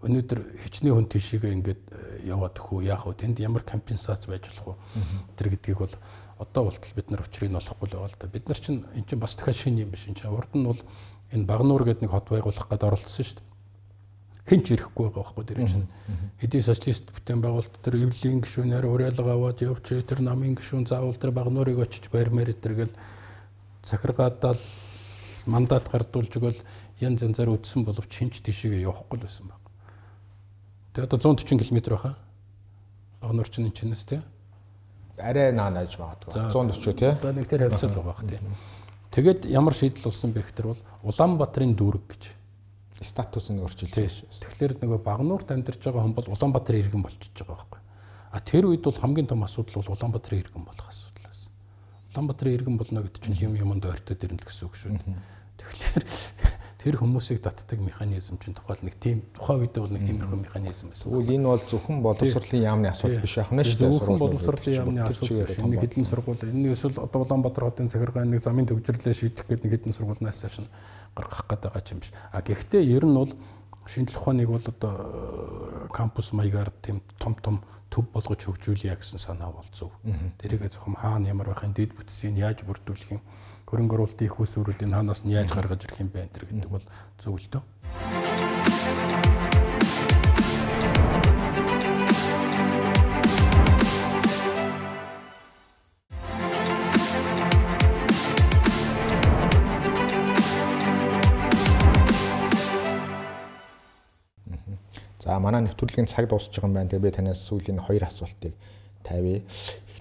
өнөөдөр хичнээн хүн тийшээгээ ингээд яваад хөө яах вэ? Тэнд ямар компенсац байж болох вэ? Тэр гэдгийг бол одоо болтол бид нар учрыг нь олохгүй л байгаа л да. Бид нар чинь эн чинь бас дахиад шинэ юм биш. Эн чинь урд нь бол энэ Багнуур гэдэг нэг хот байгуулах гээд оролцсон шүү дээ. Хэн ч ирэхгүй байгаа байхгүй тэр чинь. Хэдий социалист бүтээн байгуулалт тэр эвлэлийн гишүүнээр уриалга аваад явж тэр намын гишүүн заавал тэр Багнуурыг очиж барьмаар тэргээл захиргаадал мандат гардуулж өгөөл янз янзаар үдсэн боловч хинч тийшээгээ явахгүй л байсан баг. Тэгээ одоо зуун төрчин километр байхаа. Багнуур чинь энэ чинээс тий. Арай наанаж магадгүй. зуун төрчөө тий. За нэг тэр хавцал байгаа бах тий. Тэгээд ямар шийдэл болсон бэ гэхээр бол Улаанбаатарын дүүрэг гэж статус нь өөрчилсөн шүү. Тэгэхээр нөгөө Багнуурт амьдарч байгаа хүн бол Улаанбаатарын иргэн болчихж байгаа байхгүй. А тэр үед бол хамгийн том асуудал бол Улаанбаатарын иргэн болох асуудал байсан. Улаанбаатарын иргэн болно гэдэг чинь юм юмд ойртоод ирнэ гэсэн үг шүү. Тэгэхээр тэр хүмүүсийг татдаг механизм чинь тухайл нэг тийм тухайн үед бол нэг тиймэрхүү механизм байсан. Тэгвэл энэ бол зөвхөн боловсролын яамны асуудал биш яах нь шүү дээ. Зөвхөн боловсролын яамны асуудал биш. Нэг хэдэн сургууль энэ эсвэл одоо Улаанбаатар хотын захиргааны нэг замын төвжирлээ шийдэх гэдэг нэг хэдэн сургуулиас цааш нь гаргах гэдэг байгаа юм биш. А гэхдээ ер нь бол шинжлэх ухааныг бол одоо кампус маягаар тийм том том төв болгож хөгжүүлье гэсэн санаа бол зөв. Тэрийг зөвхөн хаана ямар байхын дэд бүтцийг яаж бүрдүүлэх юм хөрөнгө оруулалтын их усүрүүдийн хаанаас нь яаж гаргаж ирэх юм бэ гэдэг бол зөв л дөө. За манай нэвтрүүлгийн цаг дуусч байгаа юм байна. Тэгээ би танаас сүүлийн хоёр асуултыг тавья.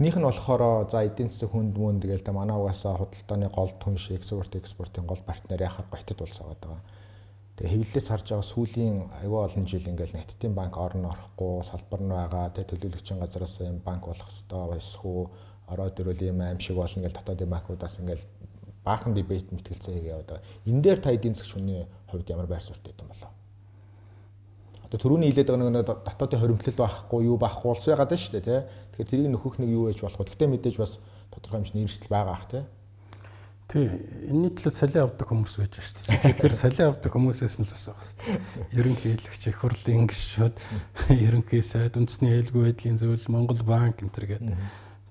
Эхнийх нь болохоор за эдийн засаг хүнд мөн тэгэл та манай угаасаа худалдааны гол түн шиг экспорт экспортын гол партнер яхаар гоётод улсаад байгаа. Тэгээ хэвлэлээс харж байгаа сүүлийн аюул олон жил ингээл Хятадын банк орно орохгүй салбар нь байгаа. Тэгээ төлөөлөгчийн газраас юм банк болох хэвээр байсгүй ороод ирвэл юм аим шиг болно гэж дотоодын банкудаас ингээл баахан дебет мэтгэлцээ хийгээд байгаа. Энэ дээр та эдийн засаг хүний хувьд ямар байр суурьтай юм болов? одоо түрүүний хэлээд байгаа нэг дотоодын хоримтлал байхгүй юу байхгүй болсон ягаад байна шүү дээ тий. Тэгэхээр тэрийг нөхөх нэг юу ээж болох вэ? Гэхдээ мэдээж бас тодорхой хэмжээний эрсдэл байгаа ах тий. Тий, энэний төлөө солио авдаг хүмүүс байж шүү дээ. Тэр солио авдаг хүмүүсээс нь л асуух хэрэгтэй. Ерөнхийлөгч, их хурлын гишүүд, ерөнхий сайд, үндэсний аюулгүй байдлын зөвлөл, Монгол банк энэ төр гэдэг.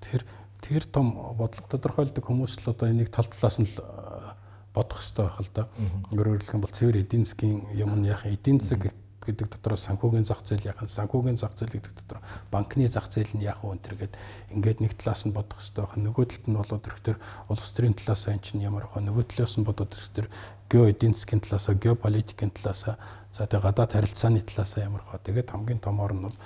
Тэр тэр том бодлого тодорхойлдог хүмүүс л одоо энийг тал талаас нь л бодох хэрэгтэй байх л да. Өөрөөр хэлбэл бол цэвэр эдийн засгийн юм нь яах эдийн засаг гэдэг дотор санхүүгийн зах зээл яах санхүүгийн зах зээл гэдэг дотор банкны зах зээл нь яах вэ гэдэг ингээд нэг талаас нь бодох хэрэгтэй байна. Нөгөө талд нь болоод ирэхээр улс төрийн талаас нь чинь ямар байх вэ? Нөгөө талаас нь бодоод ирэхээр гео эдийн засгийн талаас, геополитикийн талаас, за тэгээ гадаад харилцааны талаас ямар байх вэ? Тэгээд хамгийн томоор нь бол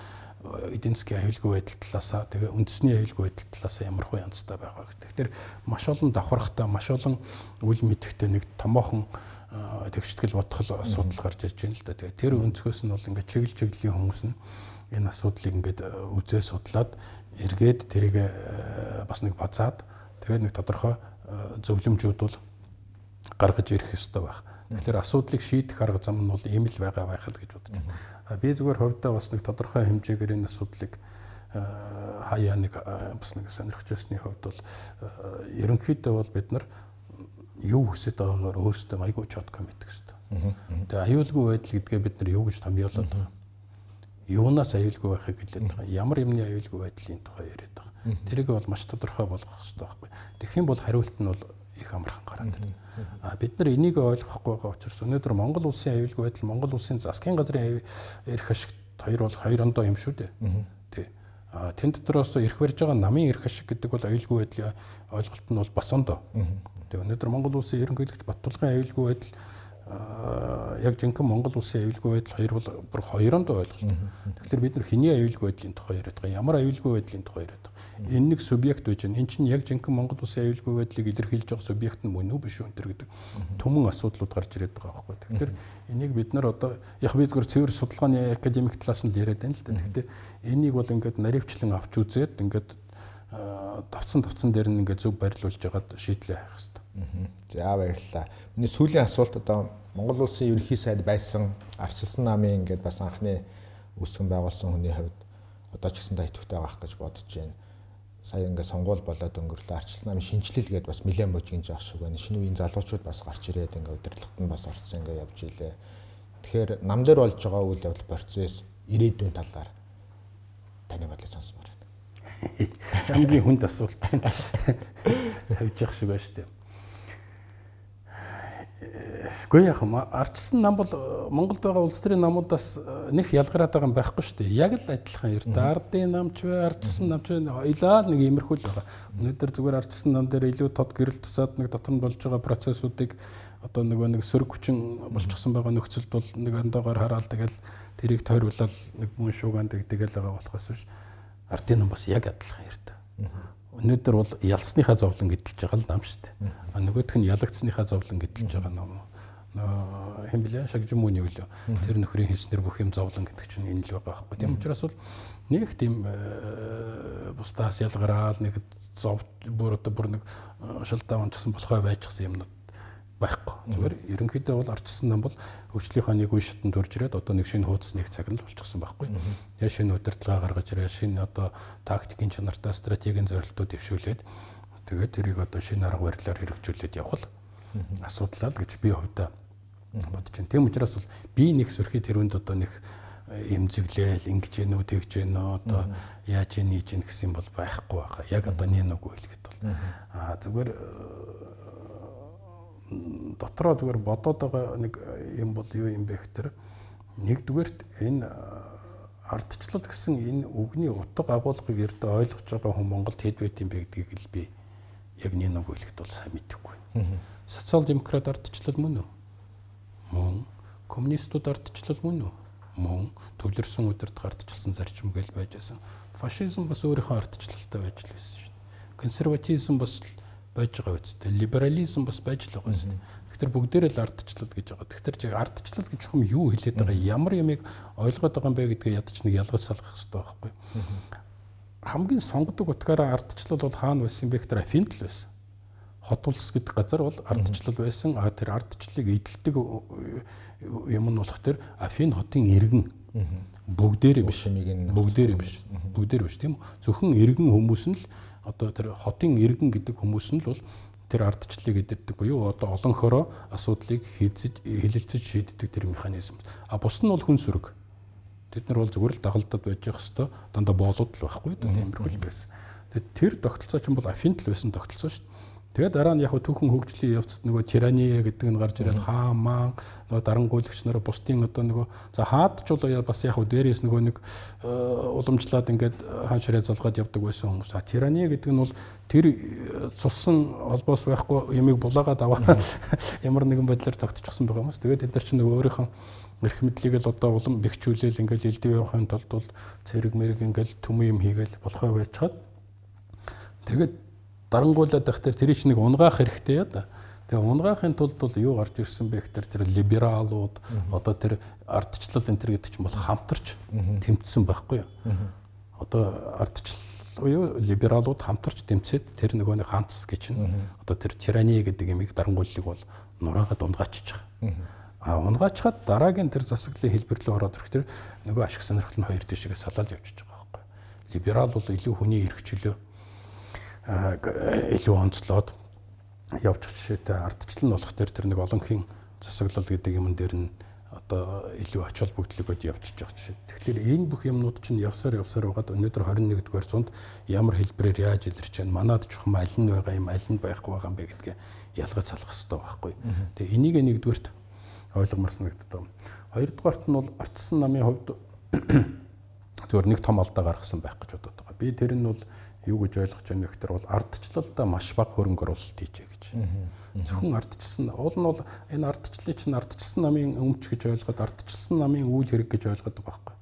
эдийн засгийн аюулгүй байдал талаас, тэгээ үндэсний аюулгүй байдал талаас ямар хөө янзтай байх вэ гэдэг. Тэгэхээр маш олон давхархтай, маш олон үл мэдэхтэй нэг томоохон тэгштгэл бодхол асуудал гарч ирж байна л да. Тэгээ тэр өнцгөөс нь бол ингээд чиглэл чиглэлийн хүмүүс нь энэ асуудлыг ингээд үзээ судлаад эргээд тэрийг бас нэг базаад тэгээд нэг тодорхой зөвлөмжүүд бол гаргаж ирэх ёстой байх. Тэгэхээр асуудлыг шийдэх арга зам нь бол ийм л байгаа байх л гэж бодож байна. Би зүгээр хувьдаа бас нэг тодорхой хэмжээгээр энэ асуудлыг хаяа нэг бас нэг сонирхож байсны хувьд бол ерөнхийдөө бол бид нар юу хүсэж байгаагаар өөрсдөө айгүй чотко мэддэг хэвээр. Тэгээ аюулгүй байдал гэдгээ бид нар юу гэж томьёолоод байгаа. Юунаас аюулгүй байхыг хэлээд байгаа. Ямар юмны аюулгүй байдлын тухай яриад байгаа. Тэрийг бол маш тодорхой болгох хэрэгтэй байхгүй. Тэгэх юм бол хариулт нь бол их амархан гараад ирнэ. А бид нар энийг ойлгохгүй байгаа учраас өнөөдөр Монгол улсын аюулгүй байдал, Монгол улсын засгийн газрын эрх ашигт хоёр бол хоёр ондоо юм шүү дээ. Тий. А тэн дотроос эрх барьж байгаа намын эрх ашиг гэдэг бол аюулгүй байдлын ойлголт нь бол бас ондоо. Өнөөдөр Монгол улсын ерөнхийлөгч Баттулгын аюулгүй байдал яг жинхэнэ Монгол улсын аюулгүй байдал хоёр бол бүр хоёронд ойлголт. Тэгэхээр бид нар хэний аюулгүй байдлын тухай яриад байгаа, ямар аюулгүй байдлын тухай яриад байгаа. Энэ нэг субъект байж байна. Энд чинь яг жинхэнэ Монгол улсын аюулгүй байдлыг илэрхийлж байгаа субъект нь мөн үү биш үү энэ гэдэг түмэн асуудлууд гарч ирээд байгаа байхгүй. Тэгэхээр энийг бид нар одоо яг би зөвхөн цэвэр судалгааны академик талаас нь яриад байна л да. Гэхдээ энийг бол ингээд наривчлан авч үзээд ингээд давцсан давцсан дээр нь ингээд зөв барилуулж ягаад шийдлээ хайх хэрэгтэй. За баярлалаа. Миний сүүлийн асуулт одоо Монгол улсын ерөнхий сайд байсан Арчилсан намын ингээд бас анхны үүсгэн байгуулсан хүний хувьд одоо ч гэсэн тайтвартай байх гэж бодож байна. Сая ингээд сонгуул болоод өнгөрлөө. Арчилсан намын шинжилэл гээд бас нэлээд божигж явах шиг байна. Шинэ үеийн залуучууд бас гарч ирээд ингээд удирдлагт нь бас орцсон ингээд явж илээ. Тэгэхээр нам дээр болж байгаа үйл явдал процесс ирээдүйн талаар таны бодлыг сонсомоор байна. Хамгийн хүнд асуулт байна. Тавьж явах шиг байна шүү дээ. Гэхдээ яг юм Арчилсан нам бол Монголд байгаа улс төрийн намуудаас нэг ялгараад байгаа юм байхгүй шүү дээ. Яг л адилхан ердөө ардын намч вэ, Арчилсан намч вэ ойлаа нэг иймэрхүү л байгаа. Өнөөдөр зүгээр Арчилсан нам дээр илүү тод гэрэл тусаад нэг дотор нь болж байгаа процессуудыг одоо нөгөө нэг сөрөг хүчин болчихсон байгаа нөхцөлд бол нэг андаагаар хараад тэгэл тэрийг тойруулаад нэг мөн шуугаан тэгдэгээл байгаа болохоос биш. Ардын нам бас яг адилхан ердөө. Өнөөдөр бол ялсныхаа зовлон гэдэлж байгаа л нам шүү дээ. А нөгөөх нь ялагдсныхаа зовлон гэдэлж байгаа нам. Нөө хэм блэ шагжмууны үлээ. Тэр нөхрийн хэлснэр бүх юм зовлон гэдэг чинь энэ л байгаа байхгүй. Тийм учраас бол нэг тийм бусдаас ялгараад нэг зов бүр одоо бүр нэг шалдаан онцсон болохоо байжсан юмнууд байхгүй. Зүгээр ерөнхийдөө бол Арчилсан нам бол хөгжлийнхаа нэг үе шатанд төрж ирээд одоо нэг шинэ хуудас нэг цаг нь болчихсон байхгүй. Я шинэ удирдлага гаргаж ирээ, шинэ одоо тактикийн чанартай стратегийн зорилтууд дэвшүүлээд тэгээд тэрийг одоо шинэ арга барилаар хэрэгжүүлээд явах л асуудал л гэж би хувьдаа бодож байна. Тийм учраас бол би нэг сөрхий тэрүүнд одоо нэг эмзэглээл ингэж гэнэ үү тэгж гэнэ одоо яаж ийж гэнэ гэсэн юм бол байхгүй байгаа. Яг одоо нэг үгүй хэлэхэд бол аа зүгээр дотроо зүгээр бодоод байгаа нэг юм бол юу юм бэ гэхээр нэгдүгээрт энэ ардчлал гэсэн энэ үгний утга агуулгыг ердөө ойлгож байгаа хүн Монголд хэд байт юм бэ гэдгийг л би яг нэг үг хэлэхэд бол сайн мэдэхгүй. Социал демократ ардчлал мөн үү? Мөн. Коммунистууд ардчлал мөн үү? Мөн. Төвлөрсөн удирдах ардчилсан зарчим гээл байж байсан. Фашизм бас өөрийнхөө ардчлалтай байж л байсан шүү дээ. Консерватизм бас байж байгаа үстэй. Либерализм бас байж л байгаа үстэй. Тэгэхээр бүгдээрээ л ардчлал гэж байгаа. Тэгэхээр чи ардчлал гэж хүм юу хэлээд байгаа, ямар юмыг ойлгоод байгаа юм бэ гэдгээ ядаж нэг ялгаж салгах хэрэгтэй байхгүй. Хамгийн сонгодог утгаараа ардчлал бол хаана байсан бэ гэхээр Афинд л байсан. хот улс гэдэг газар бол ардчлал байсан. А тэр ардчлалыг эдэлдэг юм нь болох тэр Афин хотын иргэн бүгдээрээ биш. Бүгдээрээ биш. Бүгдээрээ биш тийм үү? Зөвхөн иргэн хүмүүс нь л одоо тэр хотын иргэн гэдэг хүмүүс нь л бол тэр ардчлалыг эдэрдэг буюу одоо олонхороо асуудлыг хийцэж хэлэлцэж шийддэг тэр механизм. А бус нь бол хүн сүрэг. Тэд нар бол зүгээр л дагалдаад байж явах хэвээр дандаа боолууд л байхгүй да тиймэрхүү байсан. Тэгээд тэр тогтолцоо чинь бол Афинт л байсан тогтолцоо шүү дээ. Тэгээд дараа нь яг түүхэн хөгжлийн явцад нөгөө тирания гэдэг нь гарч ирэл хаан маан нөгөө дарангуйлагч нараа бусдын одоо нөгөө за хаад ч бол бас яг дээрээс нөгөө нэг уламжлаад ингээд хаан ширээ залгаад явдаг байсан хүмүүс. А тирания гэдэг нь бол тэр цуссан холбоос байхгүй ямиг булаагаад аваа ямар нэгэн байдлаар тогтчихсон байгаа юмс. Тэгээд тэд нар чинь нөгөө өөрийнхөө эрх мэдлийг л одоо улам бэхжүүлээл ингээд элдв явахын тулд бол цэрэг мэрэг ингээд төмөн юм хийгээл болохоо байцгаад тэгээд дарангуулаад байх тэр тэрий чинь нэг унгаах хэрэгтэй яа да. Тэгээ унгаахын тулд бол юу гарч ирсэн бэ гэхээр тэр либералууд одоо тэр ардчлал энэ төр гэдэг чинь бол хамтарч тэмцсэн байхгүй юу. Одоо ардчлал буюу либералууд хамтарч тэмцээд тэр нөгөө нэг хаанцс гэж чинь одоо тэр тирани гэдэг ямиг дарангууллыг бол нураагаад унгаачих. А унгаачихад дараагийн тэр засаглалын хэлбэр рүү ороод ирэх тэр нөгөө ашиг сонирхол нь хоёр тишгээ салаад явчихж байгаа байхгүй. Либерал бол илүү хүний эрх чөлөө илүү онцлоод явчих жишээтэй ардчлал нь болох тэр тэр нэг олонхийн засаглал гэдэг юм дээр нь одоо илүү ач холбогдлогод явчихж байгаа жишээ. Тэгэхээр энэ бүх юмнууд чинь явсаар явсаар байгаад өнөөдөр двадцать нэгдүгээр зуунд ямар хэлбэрээр яаж илэрч байна? Манад чухам аль нь байгаа юм, аль нь байхгүй байгаа юм бэ гэдгээ ялгаж салах хэрэгтэй байхгүй. Тэгээ энийг нэгдүгээрт ойлгомоор санагддаг. Хоёрдугаарт нь бол ардчилсан намын хувьд зөвхөн нэг том алдаа гаргасан байх гэж бодоод байгаа. Би тэр нь бол юу гэж ойлгож байна вэ гэхээр бол ардчлалдаа маш бага хөрөнгө оруулалт хийжээ гэж. Зөвхөн ардчилсан уул нь бол энэ ардчлалыг чинь ардчилсан намын өмч гэж ойлгоод ардчилсан намын үйл хэрэг гэж ойлгоод байгаа байхгүй.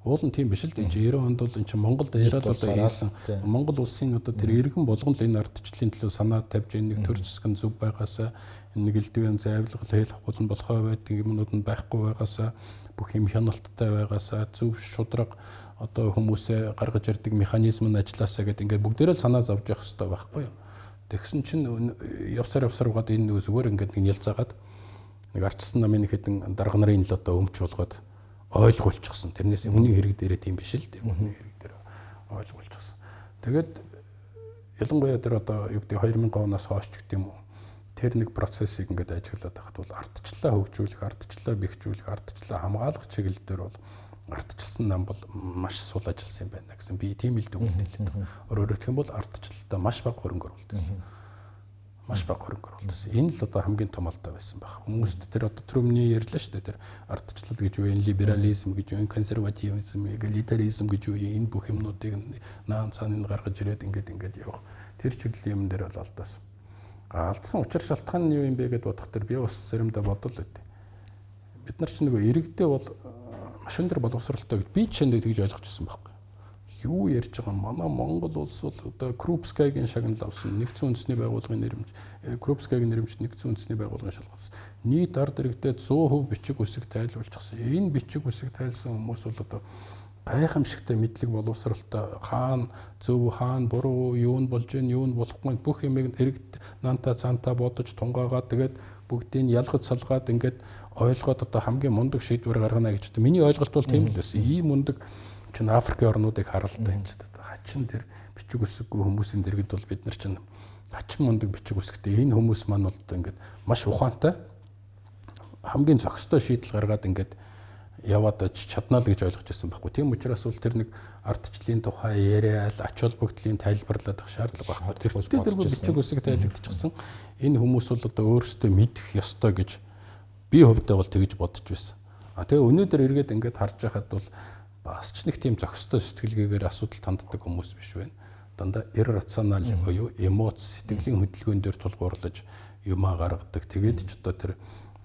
Уул нь тийм биш л дээ. девяносто онд бол энэ чинь Монголд яриад одоо хийсэн Монгол улсын одоо тэр иргэн болгон л энэ ардчлалын төлөө санаа тавьж энэ нэг төр засгийн зөв байгаасаа энэ нэг элдвийн зайвлал хэл хавхуулан болохоо байдаг юмнууд нь байхгүй байгаасаа бүх юм хяналттай байгаасаа зөв шудраг одоо хүмүүсээ гаргаж ирдэг механизм нь ажилласаа гэдэг ингээд бүгдээрээ л санаа зовж явах хэрэгтэй байхгүй юу. Тэгсэн чинь явсаар явсаар угаад энэ зүгээр ингээд нэг нялзаагаад нэг ардчилсан намын хэдэн дарга нарын л одоо өмч болгоод ойлгуулчихсан. Тэрнээс хүний хэрэг дээрээ тийм биш л дээ. Хүний хэрэг дээр ойлгуулчихсан. Тэгээд ялангуяа тэр одоо юу гэдэг две тысячи оноос хойш ч гэдэг юм уу. Тэр нэг процессыг ингээд ажиглаад байхад бол ардчлалаа хөгжүүлэх, ардчлалаа бэхжүүлэх, ардчлалаа хамгаалах чиглэл дээр бол ардчилсан нам бол маш сул ажилласан юм байна гэсэн би тийм л дүгнэлт хэлээд байна. Өөрөөр хэлэх юм бол ардчлалтаа маш бага хөрөнгө оруулсан. Маш бага хөрөнгө оруулсан. Энэ л одоо хамгийн том алдаа байсан баг. Хүмүүст тэр одоо түрүүний ярьлаа шүү дээ. Тэр ардчлал гэж юу вэ? Либерализм гэж юу вэ? Консервативизм, эгалитаризм гэж юу вэ? Энэ бүх юмнуудыг наан цааныг гаргаж ирээд ингээд ингээд явах. Тэр чиглэлийн юм дээр бол алдаасан. Алдсан учир шалтгаан нь юу юм бэ гэдээ бодох төр би бас заримдаа бодол өгдөө. Бид нар ч нөгөө иргэдээ бол маш өндөр боловсралтай гэж би ч тэгж ойлгочихсон байхгүй. Юу ярьж байгаа юм? Манай Монгол улс бол одоо Крупскайгийн шагнал авсан нэгдсэн үндэсний байгууллагын нэрмж, Крупскайгийн нэрмж нэгдсэн үндэсний байгууллагын шалгавсан. Нийт ард иргэдэд сто хувь бичиг үсэг тайлбарлчихсан. Энэ бичиг үсэг тайлсан хүмүүс бол одоо гайхамшигтай мэдлэг боловсралтай хаана зөв хаана буруу юу нь болж гин юу нь болохгүй бүх юмыг иргэд наанта цаантаа бодож тунгаагаад тэгээд бүгдийг ялгаж салгаад ингээд ойлгоод одоо хамгийн мундаг шийдвэр гаргана гэж одоо миний ойлголт бол тийм л байсан. Ийм мундаг чинь Африкийн орнуудыг харалтай юм ч гэдэг. Хачин тэр бичиг үсэггүй хүмүүсийн дэргэд бол бид нар чинь хачин мундаг бичиг үсэгтэй энэ хүмүүс маань бол ингээд маш ухаантай хамгийн зохистой шийдэл гаргаад ингээд яваад чаднаа л гэж ойлгож байсан байхгүй. Тийм учраас бол тэр нэг ардчлалын тухай яриад ач холбогдлын тайлбарлаад ах шаардлага байхгүй. Тэр тэр бичиг үсэг тайлбарлагдчихсан. Энэ хүмүүс бол одоо өөрсдөө мэдэх ёстой гэж би хувьдаа бол тэгж бодож байсан. А тэгээ өнөөдөр эргээд ингээд харж байхад бол бас ч нэг тийм зохистой сэтгэлгээгээр асуудал танддаг хүмүүс биш байна. Дандаа иррационал буюу эмоц, сэтгэлийн хөдөлгөөн дээр тулгуурлаж юмаа гаргадаг. Тэгээд ч одоо тэр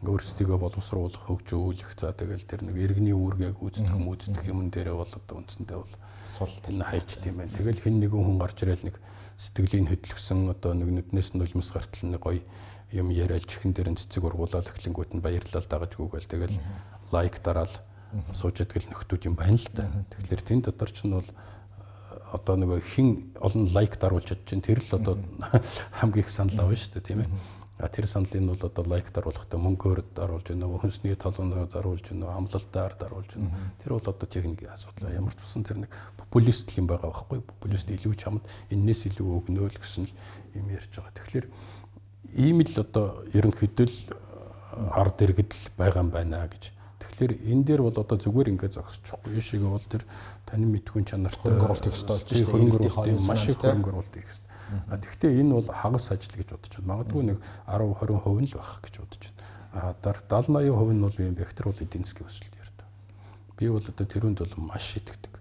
өөрсдийгөө боловсруулах, хөгжүүлэх, за тэгэл тэр нэг иргэний үүргийг гүйцэтгэх, гүйцэтгэх юм дээрээ бол одоо үндсэндээ бол сул тань хайчт юм байна. Тэгэл хэн нэгэн хүн гарч ирэл нэг сэтгэлийн хөдлөсөн одоо нэг нүднээс нь нулимс гартал нэг гоё юм яриад чихэн дээр нь цэцэг ургуулаад эхлэнгүүт нь баярлал дагаж гүгээл тэгэл лайк дараал сууж идэл нөхдүүд юм байна л да. Тэгэхээр тэн дотор ч нь бол одоо нөгөө хин олон лайк даруулж чадж чинь тэр л одоо хамгийн их санал авна шүү дээ тийм ээ. А тэр саналыг нь бол одоо лайк даруулахдаа мөнгөөр даруулж байна уу, хүнсний толгоноор даруулж байна уу, амлалтаар даруулж байна. Тэр бол одоо техникийн асуудал. Ямар ч тусан тэр нэг популист юм байгаа байхгүй. Популист илүү чамд энэс илүү өгнө л гэсэн л юм ярьж байгаа. Тэгэхээр ийм л одоо ерөнхийдөө л ард иргэд л байгаа юм байна гэж. Тэгэхээр энэ дээр бол одоо зүгээр ингээд зогсчихгүй шиг бол тэр таны мэдхүйн чанартай хөрөнгө оруулалт ихтэй болж байна. Хөрөнгө оруулалт маш их хөрөнгө оруулалт их. А тэгвэл энэ бол хагас ажил гэж бодож байна. Магадгүй нэг десять двадцать хувь л байх гэж бодож байна. А дараа седьмидесяти восемьдесят нь бол юм вектор бол эдийн засгийн өсөлт ярьдаг. Би бол одоо тэрүүнд бол маш итгэдэг.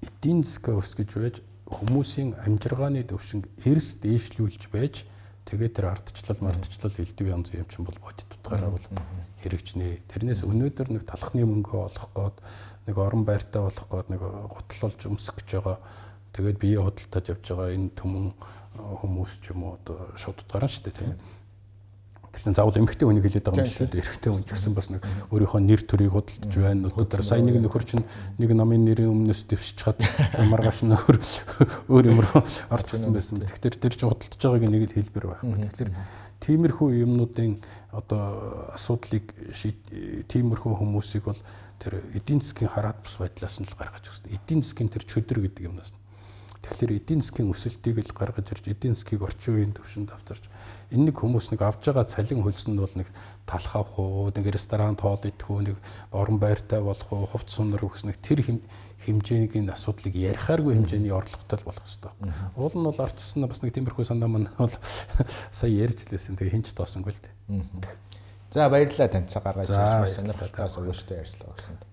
Эдийн засгийн өс гэж байж хүмүүсийн амжиргааны төвшинг эрс дээшлүүлж байж тэгээд тэр ардчлал мардчлал элдв янз юм чинь бол бодит утгаараа бол хэрэгжнэ. Тэрнээс өнөөдөр нэг талхны мөнгө олох гээд нэг орон байртай болох гээд нэг готлолж өмсөх гэж байгаа. Тэгээд бие худалдаж явж байгаа энэ түмэн хүмүүс ч юм уу одоо шууд утгаараа шүү дээ тийм. Тэр чинь заавал эмэгтэй хүнийг хэлээд байгаа юм шүү дээ. Эрэгтэй хүн ч гэсэн бас нэг өөрийнхөө нэр төрийг худалдаж байна. Одоо сая нэг нөхөр чинь нэг намын нэрийн өмнөөс дэвшиж чад маргааш нөхөр өөр юм руу орчихсон байсан. Тэгэхээр тэр чинь худалдаж байгааг нэг л хэлбэр байхгүй. Тэгэхээр тиймэрхүү юмнуудын одоо асуудлыг тиймэрхүү хүмүүсийг бол тэр эдийн засгийн хараат бус байдлаас нь л гаргаж өгсөн. Эдийн засгийн тэр чөдөр гэдэг юмнаас. Тэгэхээр эдийн засгийн өсөлтийг л гаргаж ирж эдийн засгийг орчин үеийн төвшөнд авчирч энэ нэг хүмүүс нэг авж байгаа цалин хөлсөнд бол нэг талх авах уу, нэг ресторан тоол идэх үү, нэг орон байртай болох уу, хувц сунар өгс нэг тэр хэмжээний асуудлыг ярихааргүй хэмжээний орлоготой болох хэрэгтэй. Уул нь бол арчсан бас нэг тиймэрхүү санаа маань бол сая ярьж лээсэн. Тэгээ хинч тоосонгүй л дээ. За баярлалаа тань цаг гаргаж ирж сонирхолтой асуулттай ярьслаа гэсэн.